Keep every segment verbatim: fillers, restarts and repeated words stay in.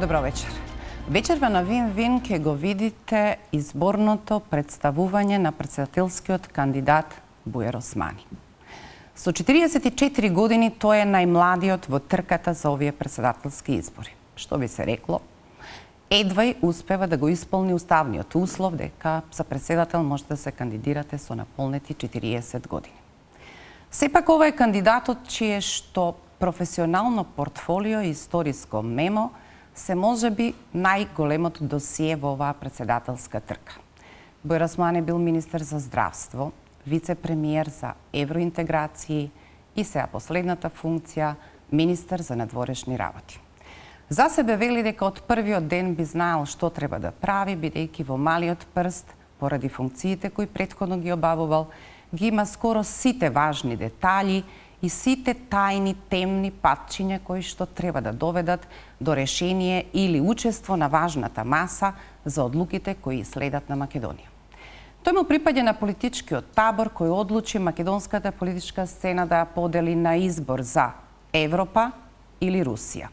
Добро вечер. Вечерва на Вин-Вин ќе го видите изборното представување на претседателскиот кандидат Бујар Османи. Со четириесет и четири години тој е најмладиот во трката за овие претседателски избори. Што би се рекло, едвај успева да го исполни уставниот услов дека за претседател може да се кандидирате со наполнети четириесет години. Сепак ова е кандидатот чие што професионално портфолио и историско мемо се можеби најголемото досие во оваа претседателска трка. Бујар Османи бил министер за здравство, вице-премиер за евроинтеграции и сега последната функција министер за надворешни работи. За себе вели дека од првиот ден би знаел што треба да прави, бидејќи во малиот прст, поради функциите кои претходно ги обавувал, ги има скоро сите важни детали и сите тајни темни патчиња кои што треба да доведат до решение или учество на важната маса за одлуките кои следат на Македонија. Тој му припаѓа на политичкиот табор кој одлучи македонската политичка сцена да ја подели на избор за Европа или Русија.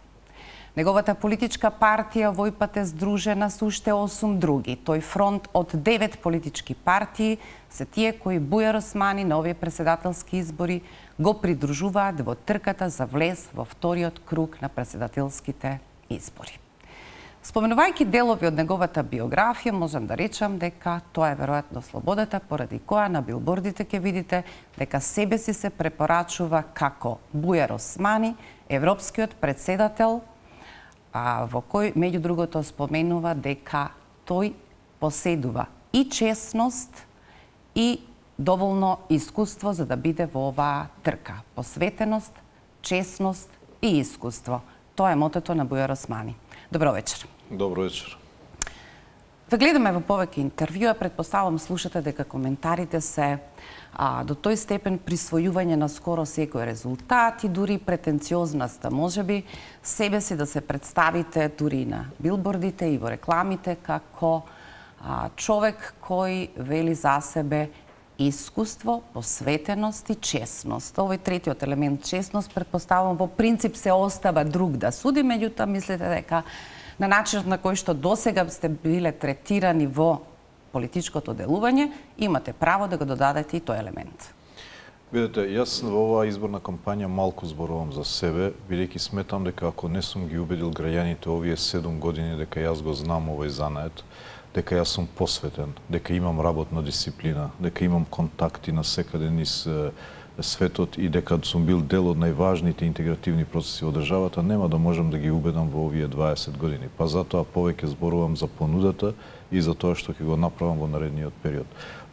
Неговата политичка партија во ИПАТ е здружена со уште осум други. Тој фронт од девет политички партии се тие кои Бујар Османи на овие претседателски избори го придружуваат во трката за влез во вториот круг на претседателските избори. Споменувајќи делови од неговата биографија, можам да речам дека тоа е веројатно слободата поради која на билбордите ќе видите дека себе си се препорачува како Бујар Османи, европскиот претседател, а, во кој меѓу другото споменува дека тој поседува и честност и доволно искуство за да биде во оваа трка. Посветеност, честност и искуство. Тоа е мотото на Бујар Османи. Добро вечер. Добро вечер. Ве гледаме во повеќе интервјуа, претпоставам слушате дека коментарите се а, до тој степен присвојување на скоро секој резултат и дури претенциозноста, можеби себе си да се представите дури на билбордите и во рекламите како а, човек кој вели за себе искуство, посветеност и честност. Овој третиот елемент, честност, предпоставам во принцип се остава друг да суди, меѓутоа мислите дека на начинот на кој што досега сте биле третирани во политичкото делување, имате право да го додадете и тој елемент. Видете, јас во оваа изборна кампања малку зборувам за себе, бидејќи сметам дека ако не сум ги убедил граѓаните овие седум години дека јас го знам овој занает, дека јас сум посветен, дека имам работна дисциплина, дека имам контакти на секаде низ светот и дека сум бил дел од најважните интегративни процеси во државата, нема да можам да ги убедам во овие дваесет години. Па затоа повеќе зборувам за понудата и за тоа што ќе го направам во наредниот период.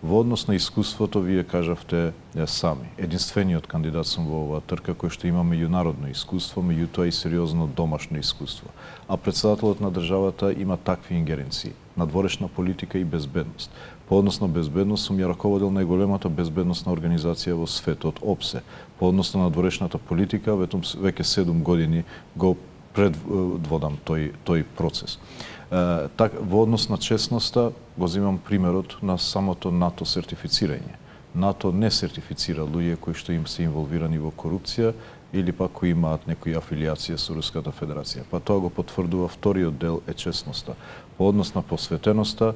Во однос на искуството, вие кажавте сами. Единствениот кандидат сум во оваа трка кој што има меѓународно искуство, меѓутоа и сериозно домашно искуство. А претседателот на државата има такви ингеренции: надворешна политика и безбедност. По однос на безбедност сум ја раководил најголемата безбедносна организација во светот, ОПСЕ. По однос на надворешната политика, веќе седум години го предводам тој, тој процес. Uh, так, во однос на честноста го земам примерот на самото НАТО сертифицирање. НАТО не сертифицира луѓе кои што им се инволвирани во корупција или пак кои имаат некои афилијација со Руската Федерација. Па тоа го потврдува вториот дел е честноста. По однос на посветеноста,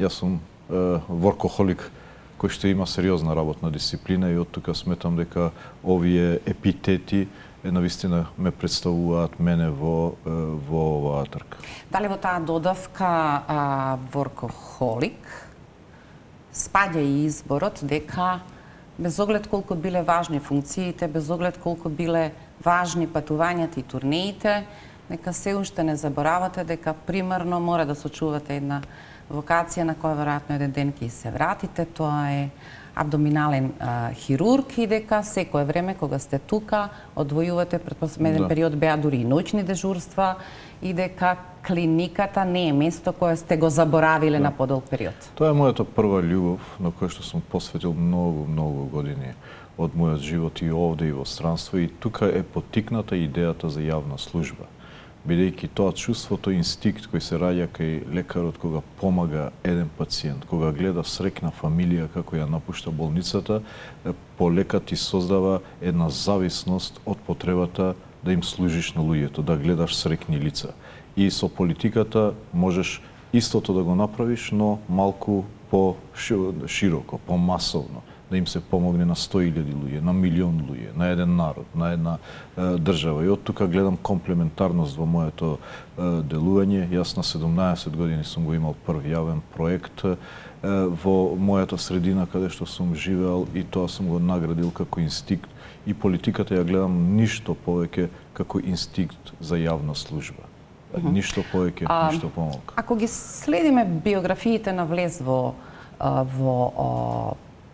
јас сум uh, воркохолик кој што има сериозна работна дисциплина и од тука сметам дека овие епитети навистина ме представуваат мене во во оваа трка. Дали во таа додавка а, воркохолик спаѓа и изборот дека без оглед колку биле важни функциите, без оглед колку биле важни патувањата и турнеите, нека се уште не заборавате дека примерно мора да сочувате една вокација на која веројатно еден ден ќе се вратите, тоа е абдоминален а, хирург и дека секое време кога сте тука одвојувате, предпоставам еден да. период беа дури и ноќни дежурства и дека клиниката не е место кое сте го заборавиле да. на подолг период. Тоа е мојата прва љубов на која што сум посветил многу, многу години од мојот живот и овде и во странство, и тука е поттикната идејата за јавна служба. Бидејќи тоа чувството, инстинкт кој се раѓа кај лекарот кога помага еден пациент, кога гледа срекна фамилија како ја напушта болницата, полека ти создава една зависност од потребата да им служиш на луѓето, да гледаш срекни лица. И со политиката можеш истото да го направиш, но малку по широко, по масовно, да им се помогне на сто илјади луѓе, на милион луѓе, на еден народ, на една е, држава. И од тука гледам комплементарност во моето е, делување. Јас на седумнаесет години сум го имал прв јавен проект е, во мојата средина каде што сум живеал и тоа сум го наградил како инстинкт. И политиката ја гледам ништо повеќе како инстинкт за јавна служба. Mm-hmm. Ништо повеќе, а, ништо помалку. Ако ги следиме биографиите на влез во, во о,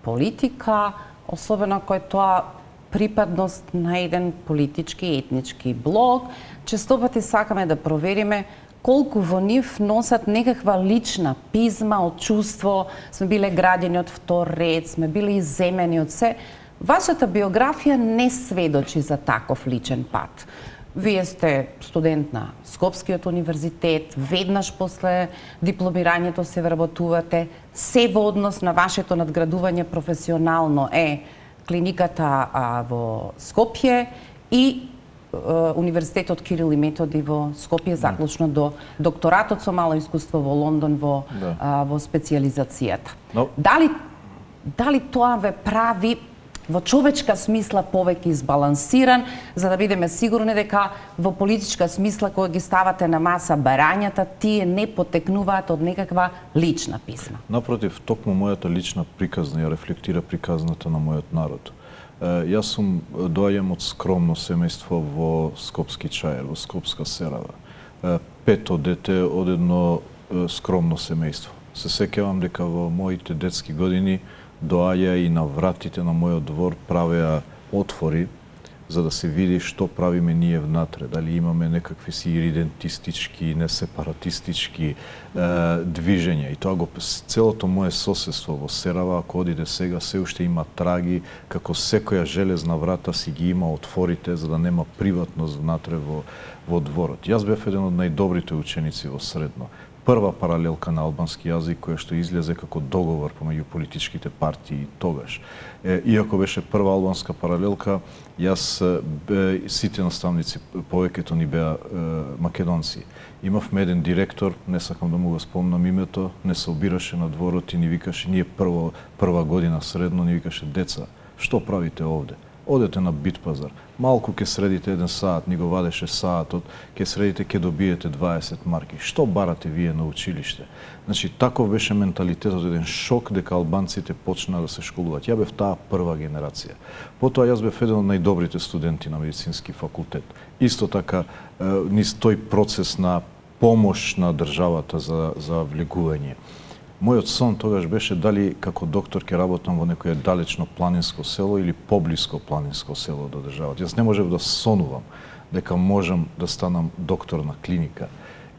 политика, особено кој тоа припадност на еден политички етнички блок, честопати сакаме да провериме колку во нив носат некаква лична пизма од чувство, сме биле граѓани од втор ред, сме биле иземени од се. Вашата биографија не сведочи за таков личен пат. Вие сте студент на Скопскиот универзитет, веднаш после дипломирањето се вработувате, се во однос на вашето надградување професионално е клиниката а, во Скопје и а, Универзитетот Кирил и Методи во Скопје, заклучно до докторатот со мало искуство во Лондон во, да. а, во специализацијата. Но... Дали, дали тоа ве прави во човечка смисла повеќе избалансиран, за да бидеме сигурни дека во политичка смисла кога ги ставате на маса барањата, тие не потекнуваат од некаква лична писма? Напротив, токму мојата лична приказна ја рефлектира приказната на мојот народ. Јас сум доаѓам од скромно семејство во Скопски Чаер, во Скопска Серава. Пето дете од едно скромно семејство. Се сеќавам дека во моите детски години доаѓа и на вратите на мојот двор правеа отвори за да се види што правиме ние внатре, дали имаме некакви си идентистички, несепаратистички е, движења. И тоа го целото мое соседство во Серава, ако одиде сега, се уште има траги, како секоја железна врата си ги има отворите за да нема приватност внатре во, во дворот. Јас бев еден од најдобрите ученици во средно. Прва паралелка на албански јазик која што излезе како договор помеѓу политичките партии тогаш. Е, иако беше прва албанска паралелка, јас бе, сите наставници повеќето ни беа е, македонци. Имавме еден директор, не сакам да му го спомнам името, не се обираше на дворот и ни викаше, ние прво, прва година средно, ни викаше: деца, што правите овде? Одете на Битпазар, малку ке средите еден саат, ни го вадеше саатот, ке средите, ке добиете дваесет марки. Што барате вие на училиште? Значи, таков беше менталитетот, еден шок дека албанците почнаа да се школуваат. Ја бев таа прва генерација. Потоа јас бев еден од најдобрите студенти на медицински факултет. Исто така, низ тој процес на помош на државата за, за влегување. Мојот сон тогаш беше дали како доктор ќе работам во некое далечно планинско село или поблиско планинско село до државата. Јас не можев да сонувам дека можам да станам доктор на клиника.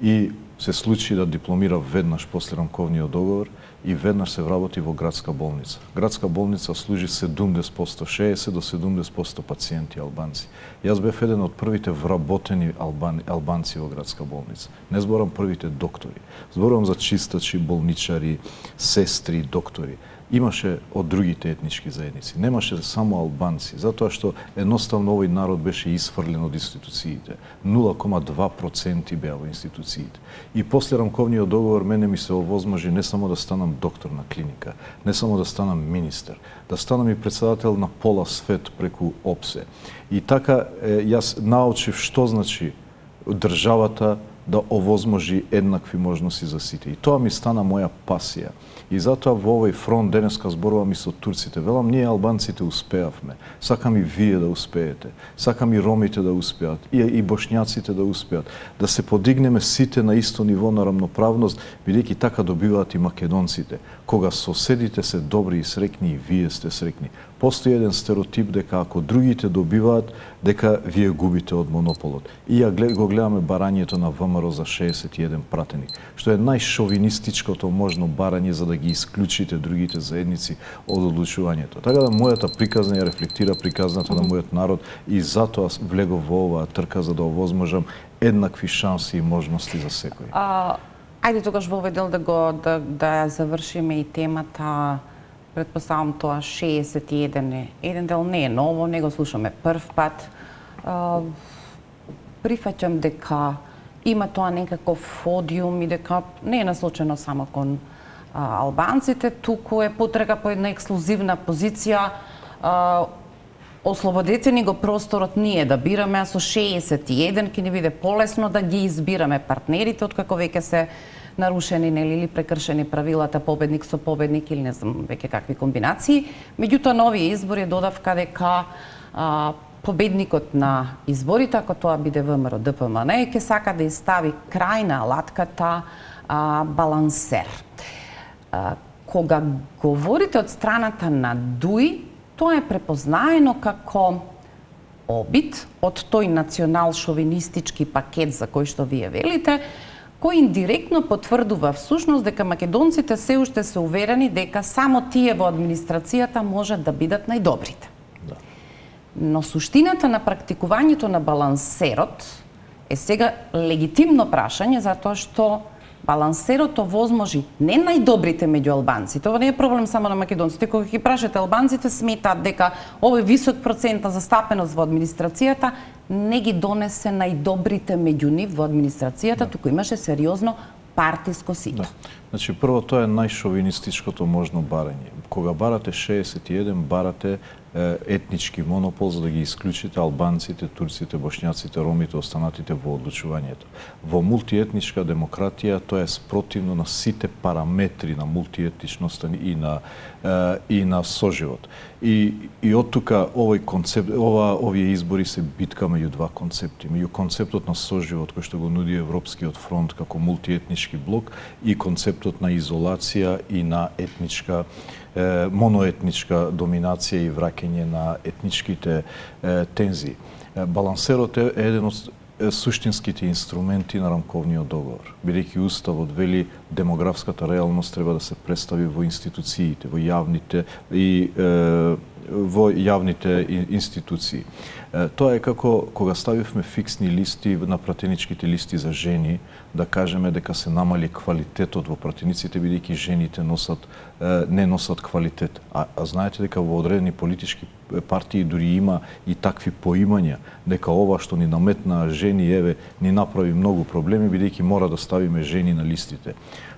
И се случи да дипломирав веднаш после рамковниот договор и веднаш се вработи во градска болница. Градска болница служи седумдесет проценти, шеесет до седумдесет проценти пациенти албанци. Јас бев еден од првите вработени албани, албанци во градска болница. Не зборам првите доктори. Зборам за чистачи, болничари, сестри, доктори. Имаше од другите етнички заедници. Немаше само албанци, затоа што едноставно овој народ беше исфрлен од институциите. нула кома два проценти беа во институциите. И после рамковниот договор мене ми се овозможи не само да станам доктор на клиника, не само да станам министер, да станам и председател на пола свет преку ОПСЕ. И така јас научив што значи државата да овозможи еднакви можности за сите. И тоа ми стана моја пасија. И затоа во овој фронт денеска зборувам и со турците. Велам, ние албанците успеавме. Сакам и вие да успеете. Сакам и ромите да успеат. И, и бошњаците да успеат. Да се подигнеме сите на исто ниво на рамноправност, бидејќи така добиваат и македонците. Кога соседите се добри и срекни, и вие сте срекни. Постои еден стереотип дека ако другите добиваат, дека вие губите од монополот. И ја го гледаме барањето на ВМРО за шеесет и еден пратеник, што е најшовинистичкото можно барање за да ги исклучите другите заедници од одлучувањето. Така да мојата приказна ја рефлектира приказната на мојот народ и затоа влегов во оваа трка за да овозможам еднакви шанси и можности за секој. А, ајде тогаш во овој дел да го да, да завршиме и темата. Предпоставам тоа шеесет и еден е. Еден дел не е ново, не го слушаме прв пат. А, прифаќам дека има тоа некаков одиум и дека не е насочено само кон а, албанците, туку е потрага по една ексклузивна позиција. А, Ослободете ни го просторот ние да бираме, а со шеесет и еден ќе ни биде полесно да ги избираме партнерите, откако веќе се нарушени нели или прекршени правилата победник со победник или не знам веќе какви комбинации. Меѓутоа на овие избори додавка дека а, победникот на изборите, ако тоа биде ВМРО Д П М Н, ќе сака да изстави крај на алатката а, балансер. А, кога говорите од страната на ДУИ, тоа е препознаено како обид од тој национал-шовинистички пакет за кој што вие велите, кој индиректно потврдува всушност дека македонците се уште се уверени дека само тие во администрацијата можат да бидат најдобрите. Да. Но суштината на практикувањето на балансерот е сега легитимно прашање, затоа што балансерот овозможи не најдобрите меѓу албанците. Ова не е проблем само на македонците. Кога ги прашате албанците, сметаат дека овој висок процент за застапеност во администрацијата не ги донесе најдобрите меѓу нив во администрацијата, да. Туку имаше сериозно партиско сито. Да. Значи, прво, тоа е најшовинистичкото можно барање. Кога барате шеесет и еден, барате етнички монопол за да ги исклучите албанците, турците, бошњаците, ромите, останатите во одлучувањето. Во мултиетничка демократија тоа е спротивно на сите параметри на мултиетничноста и на и на соживот. И и од тука овој концепт, ова овие избори се битка меѓу два концепти, меѓу концептот на соживот кој што го нуди Европскиот фронт како мултиетнички блок и концептот на изолација и на етничка моноетничка доминација и враќање на етничките е, тензии. Балансерот е еден од суштинските инструменти на рамковниот договор. Бидејќи уставот вели демографската реалност треба да се представи во институциите, во јавните и е, во јавните институции. Е, тоа е како кога ставивме фиксни листи на пратеничките листи за жени, да кажеме дека се намали квалитетот во пратениците бидејќи жените носат не носат квалитет. А, а знаете дека во одредени политички партии дури има и такви поимања дека ова што ни наметна жени еве ни направи многу проблеми бидејќи мора да ставиме жени на листите.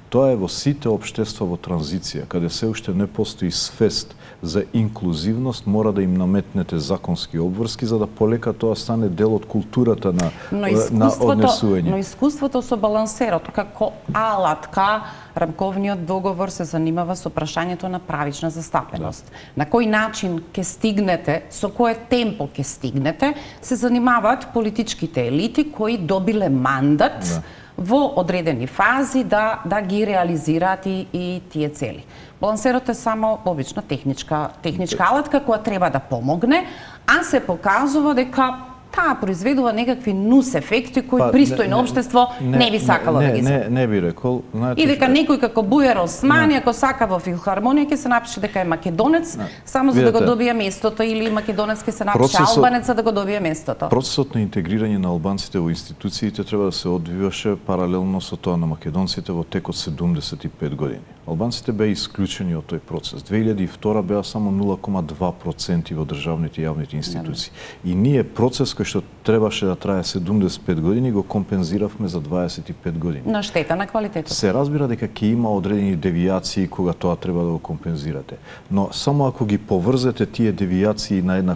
Тоа е во сите општества во транзиција, каде се уште не постои свест за инклузивност, мора да им наметнете законски обврски за да полека тоа стане дел од културата на на однесување. Но искуството со балансерот како алатка, рамковниот договор се занимава со прашањето на правична застапеност. Да. На кој начин ќе стигнете, со кое темпо ќе стигнете, се занимаваат политичките елити кои добиле мандат да. Во одредени фази да да ги реализираат и, и тие цели. Балансерот е само обична техничка техничка алатка која треба да помогне, а се покажува дека таа произведува некакви нус ефекти кои па, пристојно општество не, не би сакало не, да ги не, не, не би рекол. Знаете, и дека што... некој како Бујар Османи, ако сака во филхармонија, ќе се напише дека е македонец, не. Само за Видете, да го добие местото, или македонец ќе се напише процесот, албанец за да го добие местото. Процесот на интегрирање на албанците во институциите треба да се одвиваше паралелно со тоа на македонците во текот седумдесет и пет години. Албанците беа исклучени од тој процес. две илјади и втора беа само нула кома два проценти во државните и јавните институции. И ние процес кој што требаше да трае седумдесет и пет години го компензиравме за дваесет и пет години. На штета на квалитетот. Се разбира дека ќе има одредени девијации кога тоа треба да го компензирате. Но само ако ги поврзете тие девијации на една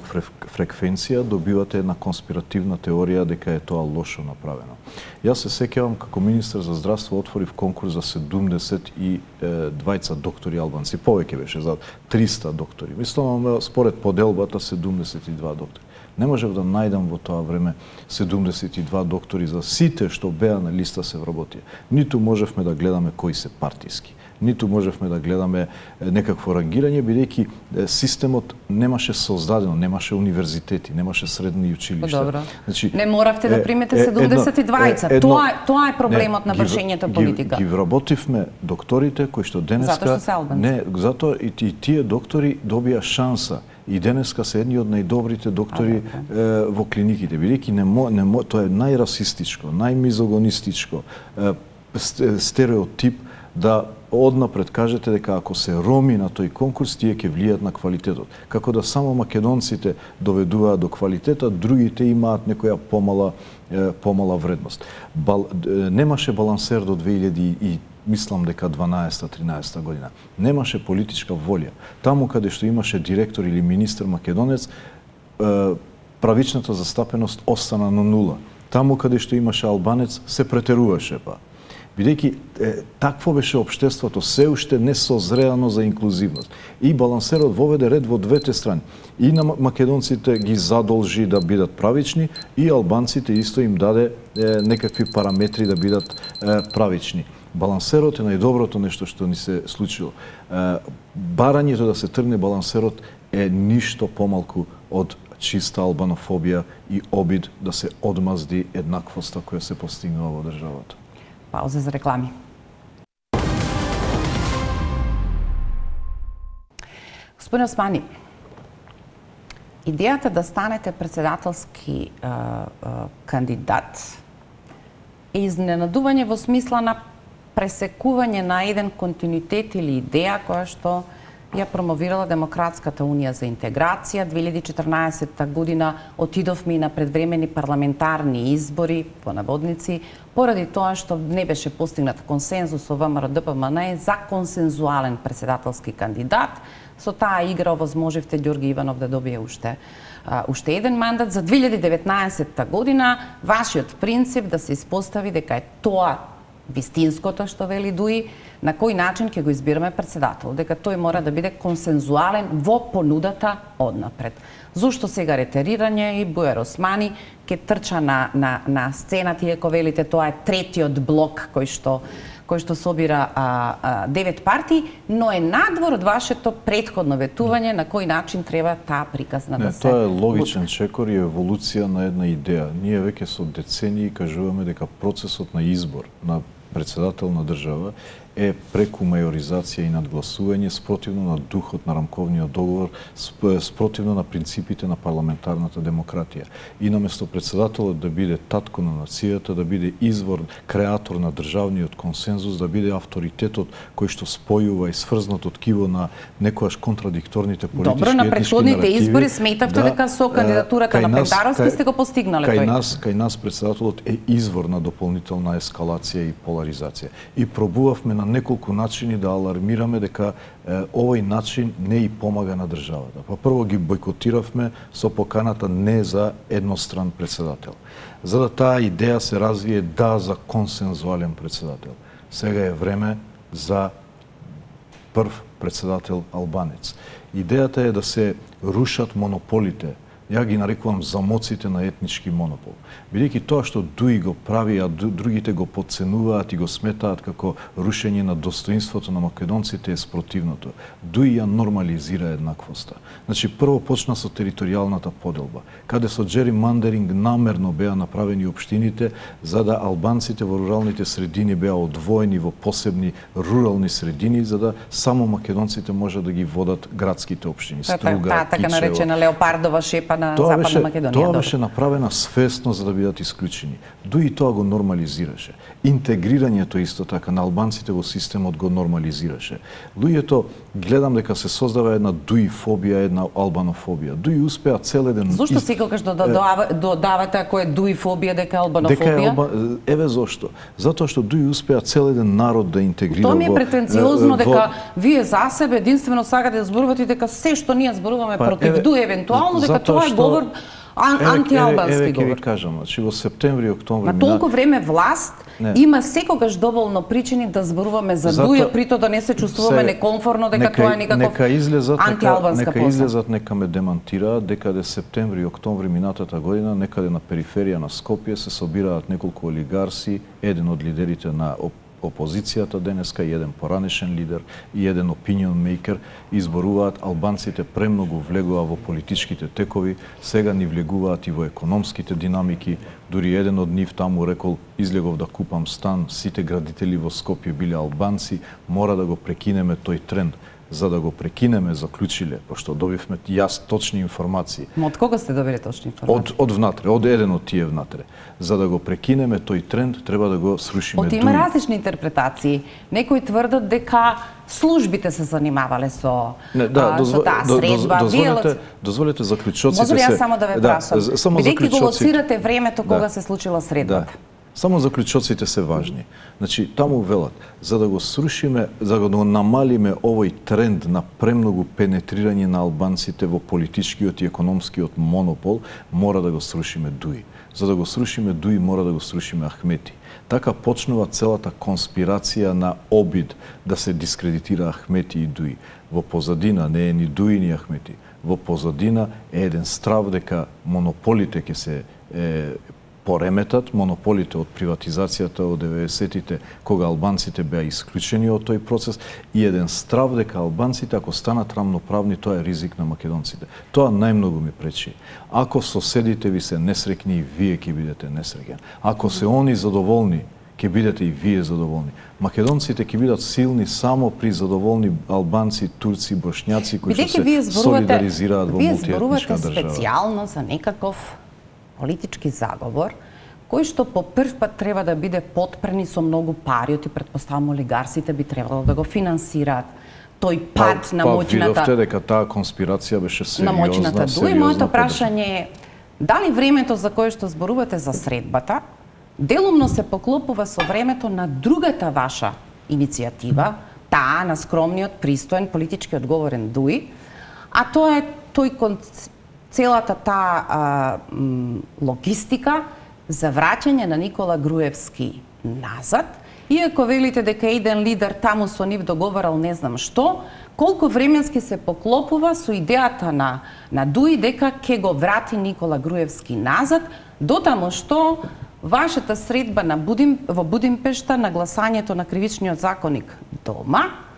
фреквенција, добивате една конспиративна теорија дека е тоа лошо направено. Јас се сеќавам како министар за здравство отворив конкурс за седумдесет и двајца доктори албанци, повеќе беше за триста доктори. Мислам, според поделбата седумдесет и два доктори. Не можев да најдам во тоа време седумдесет и два доктори за сите што беа на листа се вработија. Ниту можевме да гледаме кои се партиски, ниту можевме да гледаме некакво рангирање, бидејќи системот немаше создадено, немаше универзитети, немаше средни училишта. Добро. Значи, не моравте да примете седумдесет и двајца. Е, едно, тоа, тоа е проблемот не, на вршењето политика. Ги, ги вработивме докторите кои што денеска... Затоа што се албанци. Не, затоа и, и тие доктори добија шанса. И денеска се едни од најдобрите доктори а, е, во клиниките, бидејќи не мо, не мо, тоа е најрасистичко, најмизогонистичко, е, стереотип да однапред кажете дека ако се роми на тој конкурс, тие ќе влијат на квалитетот. Како да само македонците доведуваат до квалитета, другите имаат некоја помала помала вредност. Бал, немаше балансер до две илјади и мислам дека дванаесета-тринаесета година. Немаше политичка волја. Таму каде што имаше директор или министер македонец, правичната застапеност остана на нула. Таму каде што имаше албанец, се претеруваше па. Бидејќи такво беше општеството, се уште не созреано за инклузивност. И балансерот воведе ред во двете страни. И на македонците ги задолжи да бидат правични, и албанците исто им даде е, некакви параметри да бидат е, правични. Балансерот е најдоброто нешто што ни се случило. Е, барањето да се тргне балансерот е ништо помалку од чиста албанофобија и обид да се одмазди еднаквоста која се постигнува во државата. Пауза за реклами. Господин Османи, идејата да станете председателски а, а, кандидат е изненадување во смисла на пресекување на еден континуитет или идеја која што ја промовирала Демократската унија за интеграција. две илјади и четрнаесетта година отидовме и на предвремени парламентарни избори, по наводници, поради тоа што не беше постигнат консензус со ВМРО Д П М Н за консензуален председателски кандидат. Со таа игра овозможивте Ѓорги Иванов да добие уште uh, уште еден мандат. За две илјади и деветнаесетта година вашиот принцип да се испостави дека е тоа вистинското што вели Дуи, на кој начин ќе го избираме председател, дека тој мора да биде консензуален во понудата однапред. Зошто сега ретерирање и Бујар Османи ќе трча на, на, на сцената, иако велите тоа е третиот блок кој што кој што собира а, а, девет партии, но е надвор од вашето претходно ветување на кој начин треба таа приказна Не, да се... Тоа е логичен чекор и еволуција на една идеја. Ние веќе со децении кажуваме дека процесот на избор на председател на држава е преку мајоризација и надгласување, спротивно на духот на рамковниот договор, спротивно на принципите на парламентарната демократија. И наместо председателот да биде татко на нацијата, да биде извор, креатор на државниот консензус, да биде авторитетот кој што спојува и сврзнат од киво на некојаш контрадикторните политички Добро, на претходните наративи, избори сметавте да, дека со кандидатурата на Пекдаровски сте го постигнале кај тој? Нас, кај нас председателот е извор на дополнителна ескалација и поларизација. И пробувавме на неколку начини да алармираме дека е, овој начин не и помага на државата. Па прво ги бойкотиравме со поканата не за едностран председател. За да таа идеја се развие да за консензуален председател. Сега е време за прв председател албанец. Идејата е да се рушат монополите. Ја ги нарекувам замоците на етнички монопол. Бидејќи тоа што Дуи го прави, а другите го подценуваат и го сметаат како рушење на достоинството на македонците е спротивното. Дуи ја нормализира еднаквоста. Значи, прво почна со територијалната поделба, каде со джеримандеринг намерно беа направени општините за да албанците во руралните средини беа одвоени во посебни рурални средини, за да само македонците може да ги водат градските општини. Струга, Таа така наречена леопардова шепа на Тоа Западна беше, Македонија. тоа Добро. беше направена свесно за да бидат исклучени. Дуи тоа го нормализираше. Интегрирањето исто така на албанците во системот го нормализираше. Луѓето гледам дека се создава една дуифобија, една албанофобија. Дуи успеа цел еден Зошто ист... секогаш додавате до, до, ако е дуифобија дека е албанофобија? Дека е алба... Еве зошто. Затоа што Дуи успеа цел еден народ да интегрира во... Тоа ми е претенциозно во... дека вие за себе единствено сакате да зборувате дека се што ние зборуваме Па, против еве, Дуи евентуално дека затоа тоа е што- говор ан, Еве, антиалбански еве, еве ќе ви говор. кажам, значи во септември и октомври На толку време власт Не. има секогаш доволно причини да зборуваме за Зато- Дуја, прито да не се чувствуваме се- некомфорно дека нека- тоа е некаков нека излезат, нека, антиалбанска нека поза. излезат, нека ме демантираат дека де септември и октомври минатата година некаде на периферија на Скопје се собираат неколку олигарси, еден од лидерите на оп опозицијата денеска и еден поранешен лидер и еден opinion maker изборуваат албанците премногу влегува во политичките текови, сега ни влегуваат и во економските динамики. Дури еден од нив таму рекол излегов да купам стан, сите градители во Скопје биле албанци, мора да го прекинеме тој тренд. за да го прекинеме, заклучиле, пошто добивме јас точни информации. Но од кого сте добили точни информации? Од од внатре, од еден од тие внатре. За да го прекинеме тој тренд, треба да го срушиме. Од има различни интерпретации. Некои тврдат дека службите се занимавале со Не, да, а, дозво, со таа до, средба. дозволете, дозволете заклучоците се. Може ли јас само да ве прашам? Да, само бидејќи го заклучоците. лоцирате времето кога Да. се случила средбата. Да. Само заклучоците се важни. Значи, таму велат, за да го срушиме, за да го намалиме овој тренд на премногу пенетрирање на албанците во политичкиот и економскиот монопол, мора да го срушиме Дуи. За да го срушиме Дуи, мора да го срушиме Ахмети. Така почнува целата конспирација на обид да се дискредитира Ахмети и Дуи. Во позадина не е ни Дуи ни Ахмети. Во позадина е еден страв дека монополите ќе се е, пореметат, монополите од приватизацијата од деветдесетите, кога албанците беа исклучени од тој процес, и еден страв дека албанците, ако станат рамноправни, тоа е ризик на македонците. Тоа најмногу ми пречи. Ако соседите ви се несреќни, и вие ќе бидете несреќен. Ако се они задоволни, ќе бидете и вие задоволни. Македонците ќе бидат силни само при задоволни албанци, турци, бошњаци кои што се солидаризираат во мултиетничка држава. Вие зборувате специјално за некаков политички заговор, кој што по прв пат треба да биде подпрени со многу пари, и претпоставам олигарсите би требало да го финансираат. Тој пат па, на па, моќната... видовте дека таа конспирација беше сериозна, на моќната Дуи. Моето прашање е, дали времето за кое што зборувате за средбата, делумно се поклопува со времето на другата ваша иницијатива, таа на скромниот, пристоен, политички одговорен Дуи, а тоа е тој концепт, целата таа а, м, логистика за враќање на Никола Груевски назад, иако велите дека еден лидер таму со нив договарал не знам што, колку временски се поклопува со идејата на, на Дуи дека ќе го врати Никола Груевски назад, дотаму што вашата средба на Будим, во Будимпешта на гласањето на кривичниот законник дома,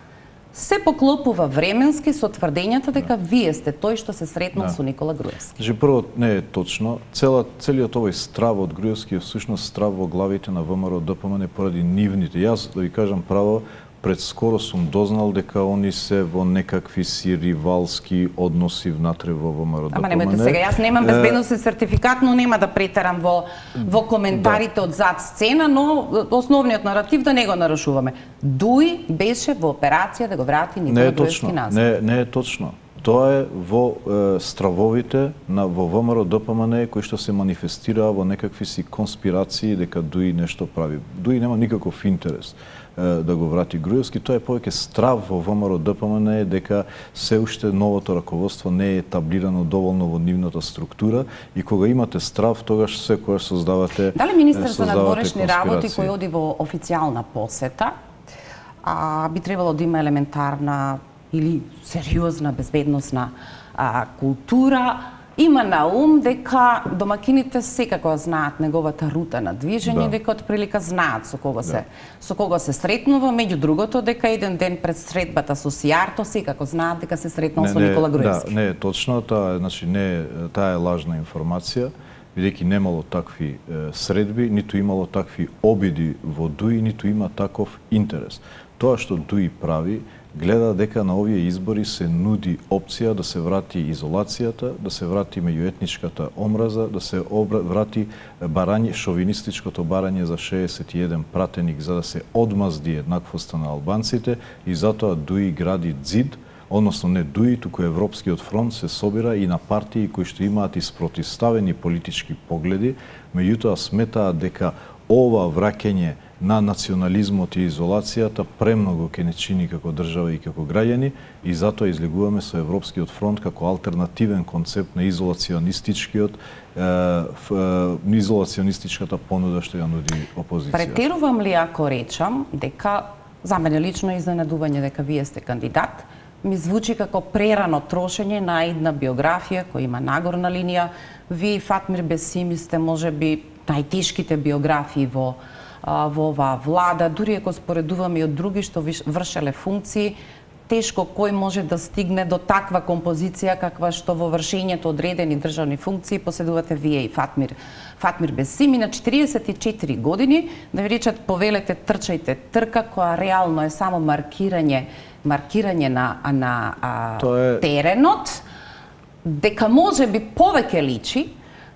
се поклопува временски со тврдењата дека вие сте тој што се сретнал Да. со Никола Груевски. Значи, прво не е точно. Цела, целиот овој страв од Груевски е всушност страв во главите на ВМРО ДПМН поради нивните. Јас, да ви кажам право, пред скоро сум дознал дека они се во некакви си ривалски односи внатре во ВМРО ДПМН. Ама немојте сега, јас немам безбедносен сертификат, но нема да претерам во во коментарите од зад сцена, но основниот наратив да не го нарушуваме. Дуи беше во операција да го врати Никола Груевски назад. Не, не е точно. Тоа е во е, стравовите на во ВМРО ДПМН кои што се манифестираа во некакви си конспирации дека Дуи нешто прави. Дуи нема никаков интерес е, да го врати Груевски, тоа е повеќе страв во ВМРО ДПМН е дека се уште новото раководство не е етаблирано доволно во нивната структура и кога имате страв, тогаш секогаш создавате Дали министер за создавате надворешни работи конспирации. кој оди во официјална посета, а, би требало да има елементарна или сериозна безбедносна а, култура, има на ум дека домакините секако знаат неговата рута на движење, Да. дека од прилика знаат со кого Да. се со кого се сретнува, меѓу другото дека еден ден пред средбата со Сијарто секако знаат дека се сретнал со Никола Груевски. Да, не е точно, таа е, значи не е, таа е лажна информација, бидејќи немало такви е, средби, ниту имало такви обиди во Дуи, ниту има таков интерес. Тоа што Дуи прави, гледа дека на овие избори се нуди опција да се врати изолацијата, да се врати меѓуетничката омраза, да се обра... врати барање, шовинистичкото барање за шеесет и еден пратеник за да се одмазди еднаквоста на албанците и затоа Дуи гради ѕид, односно не Дуи, туку Европскиот фронт се собира и на партии кои што имаат испротивставени политички погледи, меѓутоа сметаат дека ова враќање на национализмот и изолацијата премногу ке не чини како држава и како граѓани и затоа излегуваме со Европскиот фронт како алтернативен концепт на изолационистичкиот е, е, изолационистичката понуда што ја нуди опозицијата. Претерувам ли ако речам дека за мене лично е изненадување дека вие сте кандидат, ми звучи како прерано трошење на една биографија која има нагорна линија. Вие и Фатмир Бесими сте можеби најтешките биографии во во оваа влада, дури ако споредуваме и од други што вршеле функции, тешко кој може да стигне до таква композиција каква што во вршењето одредени државни функции поседувате вие и Фатмир Фатмир Бесими на четириесет и четири години, да ви речат повелете трчајте трка, која реално е само маркирање маркирање на на а, е... теренот, дека може би повеќе личи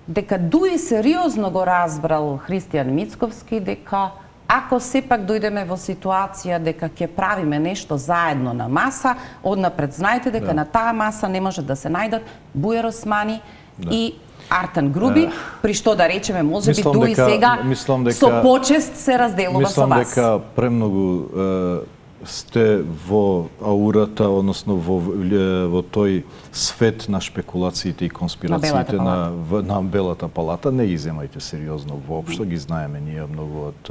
дека дуи сериозно го разбрал Христијан Мицковски дека ако сепак дојдеме во ситуација дека ќе правиме нешто заедно на маса, однапред знаете дека да. на таа маса не може да се најдат Бујар Османи да. и Артан Груби, е, при што да речеме може би дуи дека, сега дека, со почест се разделува со вас. Мислам дека премногу е, сте во аурата, односно во, во тој свет на шпекулациите и конспирациите на, на, на Белата палата. Не ги земајте сериозно воопшто, ги знаеме ние многу од,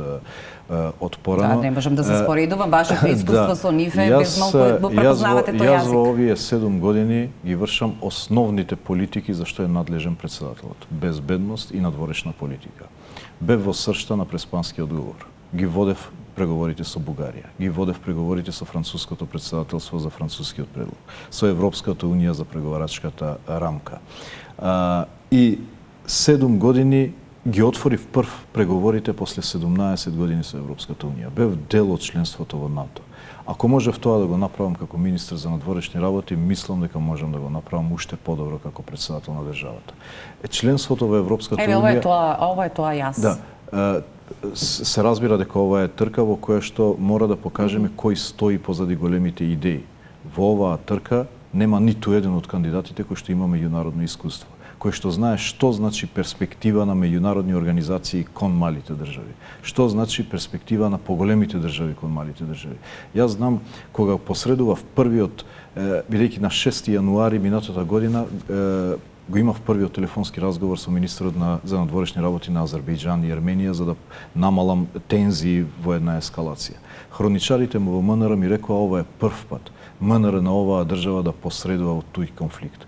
од порано. Да, не можам да се споредувам, вашето искуство да. со нив е безмалку го препознавате тој јазик. Јас во овие седум години ги вршам основните политики за што е надлежен председателот. Безбедност и надворешна политика. Бев во сршта на преспанскиот договор. Ги водев преговорите со Бугарија, ги водев преговорите со француското председателство за францускиот предлог, со Европската унија за преговарачката рамка. А, и седум години ги отворив прв преговорите после седумнаесет години со Европската унија. Бев дел од членството во НАТО. Ако можев тоа да го направам како министер за надворешни работи, мислам дека можам да го направам уште подобро како председател на државата. Е, членството во Европската Еве, унија... ова е тоа, ова е тоа јас. Да. Се разбира дека ова е трка во која што мора да покажеме mm -hmm. кој стои позади големите идеи. Во оваа трка нема ниту еден од кандидатите кој што има меѓународно искуство, кој што знае што значи перспектива на меѓународни организации кон малите држави, што значи перспектива на поголемите држави кон малите држави. Јас знам кога посредував првиот, бидејќи на шести јануари минатата година го имав првиот телефонски разговор со министерот на, за надворешни работи на Азербејџан и Ерменија за да намалам тензии во една ескалација. Хроничарите му во МНР ми рекоа ова е прв пат МНР на оваа држава да посредува во тој конфликт.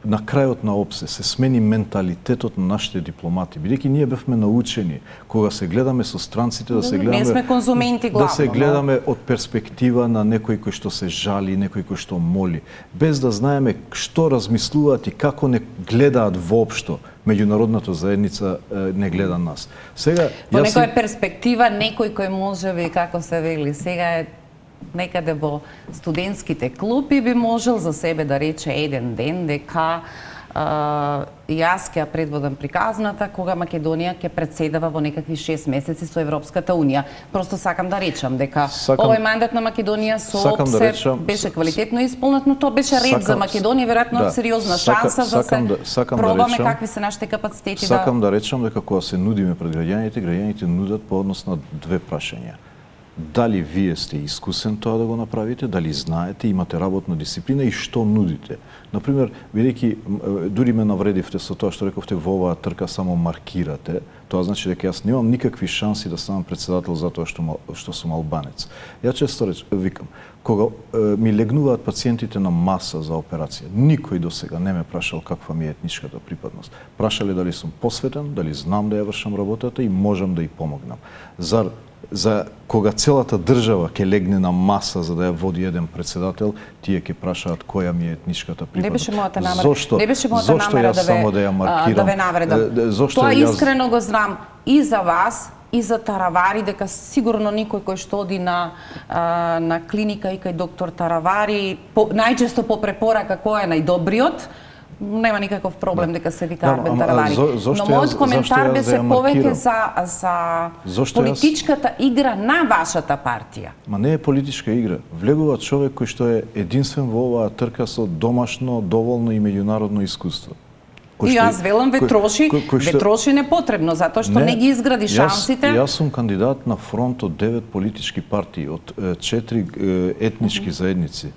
На крајот на ОПСЕ се смени менталитетот на нашите дипломати, бидејќи ние бевме научени кога се гледаме со странците да се гледаме не сме конзументи главно, да се гледаме од перспектива на некој кој што се жали, некој кој што моли, без да знаеме што размислуваат и како не гледаат воопшто. Меѓународната заедница не гледа нас. Сега по некоја перспектива некој кој може би како се вели сега е некаде во студентските клупи би можел за себе да рече еден ден дека а, јас ќе предводам приказната кога Македонија ќе председава во некакви шест месеци со Европската унија. Просто сакам да речам дека сакам, овој мандат на Македонија со ОПСЕ да речам, беше квалитетно исполнет, но тоа беше ред сакам, за Македонија, веројатно да, сериозна шанса за да се сакам пробаме да речам, какви се нашите капацитети. Сакам да... да речам дека кога се нудиме пред граѓаните, граѓаните нудат по однос на две прашања. Дали вие сте искусен тоа да го направите, дали знаете, имате работна дисциплина и што нудите. Например, бидејќи дури ме навредивте со тоа што рековте во оваа трка само маркирате, тоа значи дека јас немам никакви шанси да станам председател затоа што што сум албанец. Ја често реч, викам, кога е, ми легнуваат пациентите на маса за операција, никој досега не ме прашал каква ми е етничката припадност. Прашале дали сум посветен, дали знам да ја вршам работата и можам да ја помогнам. Зар за кога целата држава ќе легне на маса за да ја води еден председател, тие ќе прашаат која ми е етничката припадност. Не беше мојата намера. Зошто, не беше мојата намера да ве, да ја маркирам, да ве навредам. Зошто Тоа јас... искрено го знам и за вас, и за Таравари, дека сигурно никој кој што оди на, а, на клиника и кај доктор Таравари, по, најчесто по препорака кој е најдобриот, нема никаков проблем дека се вика Арбен Таравари. Но мојот коментар беше повеќе за, за политичката јас... игра на вашата партија. Ма не е политичка игра. Влегува човек кој што е единствен во оваа трка со домашно, доволно и меѓународно искуство. И јас велам ве троши, ве троши непотребно, затоа што не, не ги изгради шансите. Јас, јас сум кандидат на фронт од девет политички партии, од четири етнички заедници.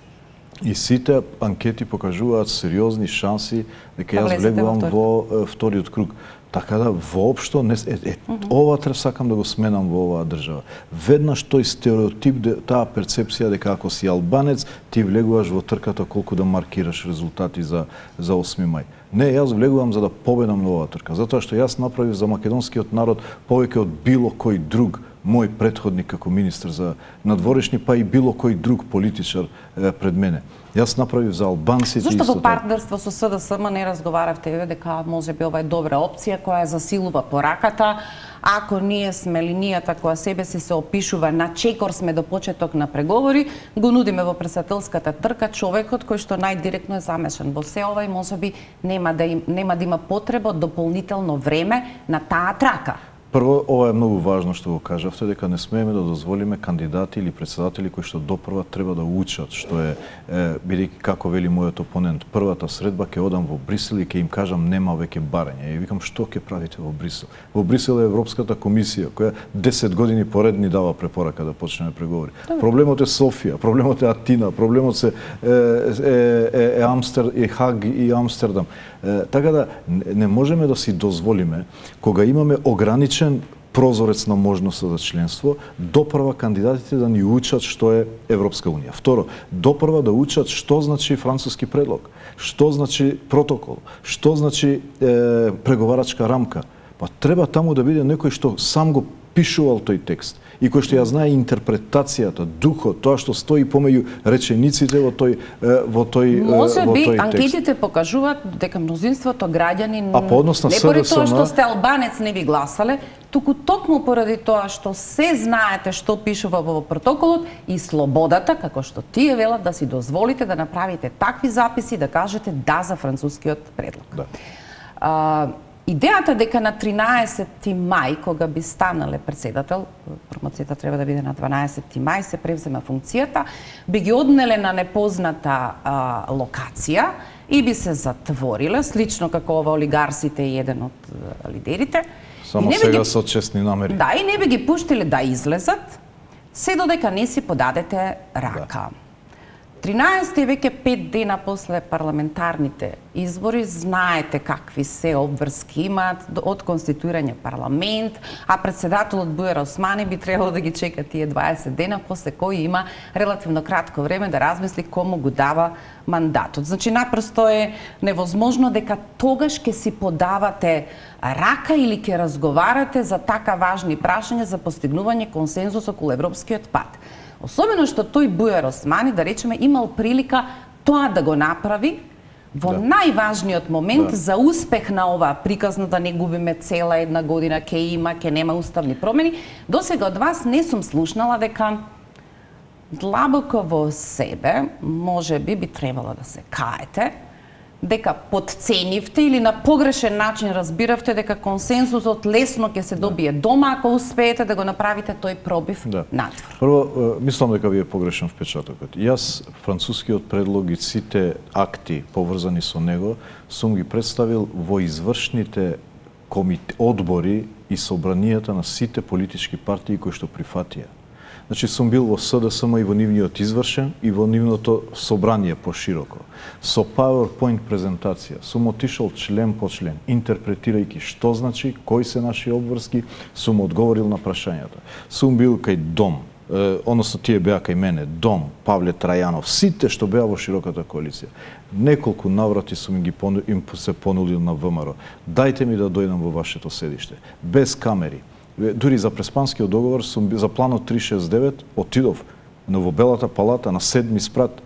И сите анкети покажуваат сериозни шанси дека јас влегувам во вториот круг. Така да воопшто не е, е, uh -huh. ова треба сакам да го сменам во оваа држава. Веднаш тој стереотип, таа перцепција дека ако си албанец ти влегуваш во трката колку да маркираш резултати за за осми мај. Не, јас влегувам за да победам на оваа трка, затоа што јас направив за македонскиот народ повеќе од било кој друг мој претходник како министер за надворешни, па и било кој друг политичар е, пред мене. Јас направив за албанците. Зошто во партнерство со СДСМ не разговаравте дека може би ова е добра опција која засилува пораката, ако ние сме линијата која себе си се опишува на чекор сме до почеток на преговори, го нудиме во председателската трка човекот кој што најдиректно е замешан во се ова и можеби нема да им, нема да има потреба од дополнително време на таа трака. Прво, ова е многу важно што го кажавте, дека не смееме да дозволиме кандидати или председатели кои што допрва треба да учат, што е, е бидејќи како вели мојот опонент, првата средба ќе одам во Брисел и ќе им кажам нема веќе барање. И викам што ќе правите во Брисел? Во Брисел е Европската комисија која десет години поред ни дава препорака да почнеме преговори. Добре. Проблемот е Софија, проблемот е Атина, проблемот се е, е, е, е Амстер, е Хаг и Амстердам. Е, така да не можеме да си дозволиме кога имаме ограничен прозорец на можноста за членство, допрва кандидатите да ни учат што е Европска унија. Второ, допрва да учат што значи француски предлог, што значи протокол, што значи е, преговарачка рамка. Па треба таму да биде некој што сам го пишувал тој текст и кој што ја знае интерпретацијата, духот, тоа што стои помеѓу речениците во тој во тој Може во би тој анкетите покажуваат дека мнозинството граѓани а по однос на не поради тоа СДСМ што сте албанец не би гласале, туку токму поради тоа што се знаете што пишува во протоколот и слободата, како што тие велат, да си дозволите да направите такви записи, да кажете да за францускиот предлог. Да. А, Идејата дека на тринаесетти мај, кога би станале председател, промоцијата треба да биде на дванаесетти мај, се превзема функцијата, би ги однеле на непозната а, локација и би се затвориле, слично како ова олигарсите и еден од а, лидерите. Само сега ги... со честни намери. Да, и не би ги пуштиле да излезат, се додека не си подадете рака. Да. тринаесетти е веќе пет дена после парламентарните избори, знаете какви се обврски имаат од конституирање парламент, а председателот Бујар Османи би требало да ги чека тие дваесет дена, после кој има релативно кратко време да размисли кому го дава мандатот. Значи, напросто е невозможно дека тогаш ќе си подавате рака или ќе разговарате за така важни прашања за постигнување консензус околу европскиот пат. Особено што тој Бујар Османи, да речеме, имал прилика тоа да го направи во да. најважниот момент да. за успех на оваа приказна, да не губиме цела една година, ке има, ке нема уставни промени. Досега од вас не сум слушнала дека длабоко во себе, може би би требало да се каете, дека потценивте или на погрешен начин разбиравте дека консензусот лесно ќе се добие дома ако успеете да го направите тој пробив да. надвор. Прво, мислам дека ви е погрешен впечатокот. Јас францускиот предлог и сите акти поврзани со него сум ги представил во извршните комите, одбори и собранијата на сите политички партии кои што прифатија. Значи, сум бил во СДСМ и во нивниот извршен и во нивното собрание пошироко. Со PowerPoint презентација сум отишол член по член, интерпретирајќи што значи, кои се наши обврски, сум одговорил на прашањата. Сум бил кај Дом, е, односно тие беа кај мене, Дом, Павле Трајанов, сите што беа во широката коалиција. Неколку наврати сум им ги пону, им се понудил на ВМРО. Дајте ми да дојдам во вашето седиште, без камери. Дури за Преспанскиот договор сум за планот триста шесет и девет отидов во Белата палата на седми спрат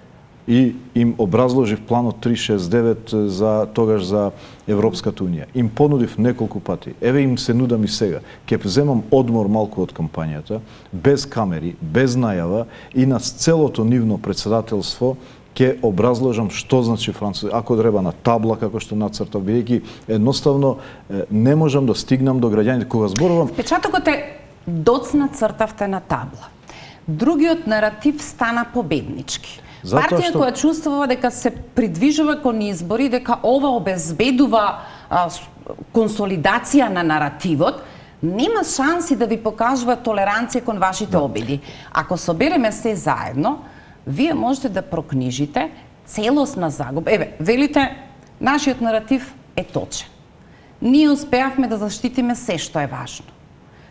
и им образложив планот триста шесет и девет за тогаш за Европската унија. Им понудив неколку пати. Еве им се нудам и сега. Ќе земам одмор малку од кампањата, без камери, без најава и на целото нивно председателство ќе образложам што значи француски, ако треба на табла како што нацртав, бидејќи едноставно не можам да стигнам до граѓаните кога зборувам. Впечатокот е доцна цртавте на табла. Другиот наратив стана победнички. Затоа Партија што... која чувствува дека се придвижува кон избори, дека ова обезбедува а, консолидација на наративот, нема шанси да ви покажува толеранција кон вашите да. обиди. Ако собереме се заедно, вие можете да прокнижите целосна загуба. Еве, велите, нашиот наратив е точен. Ние успеавме да заштитиме се што е важно.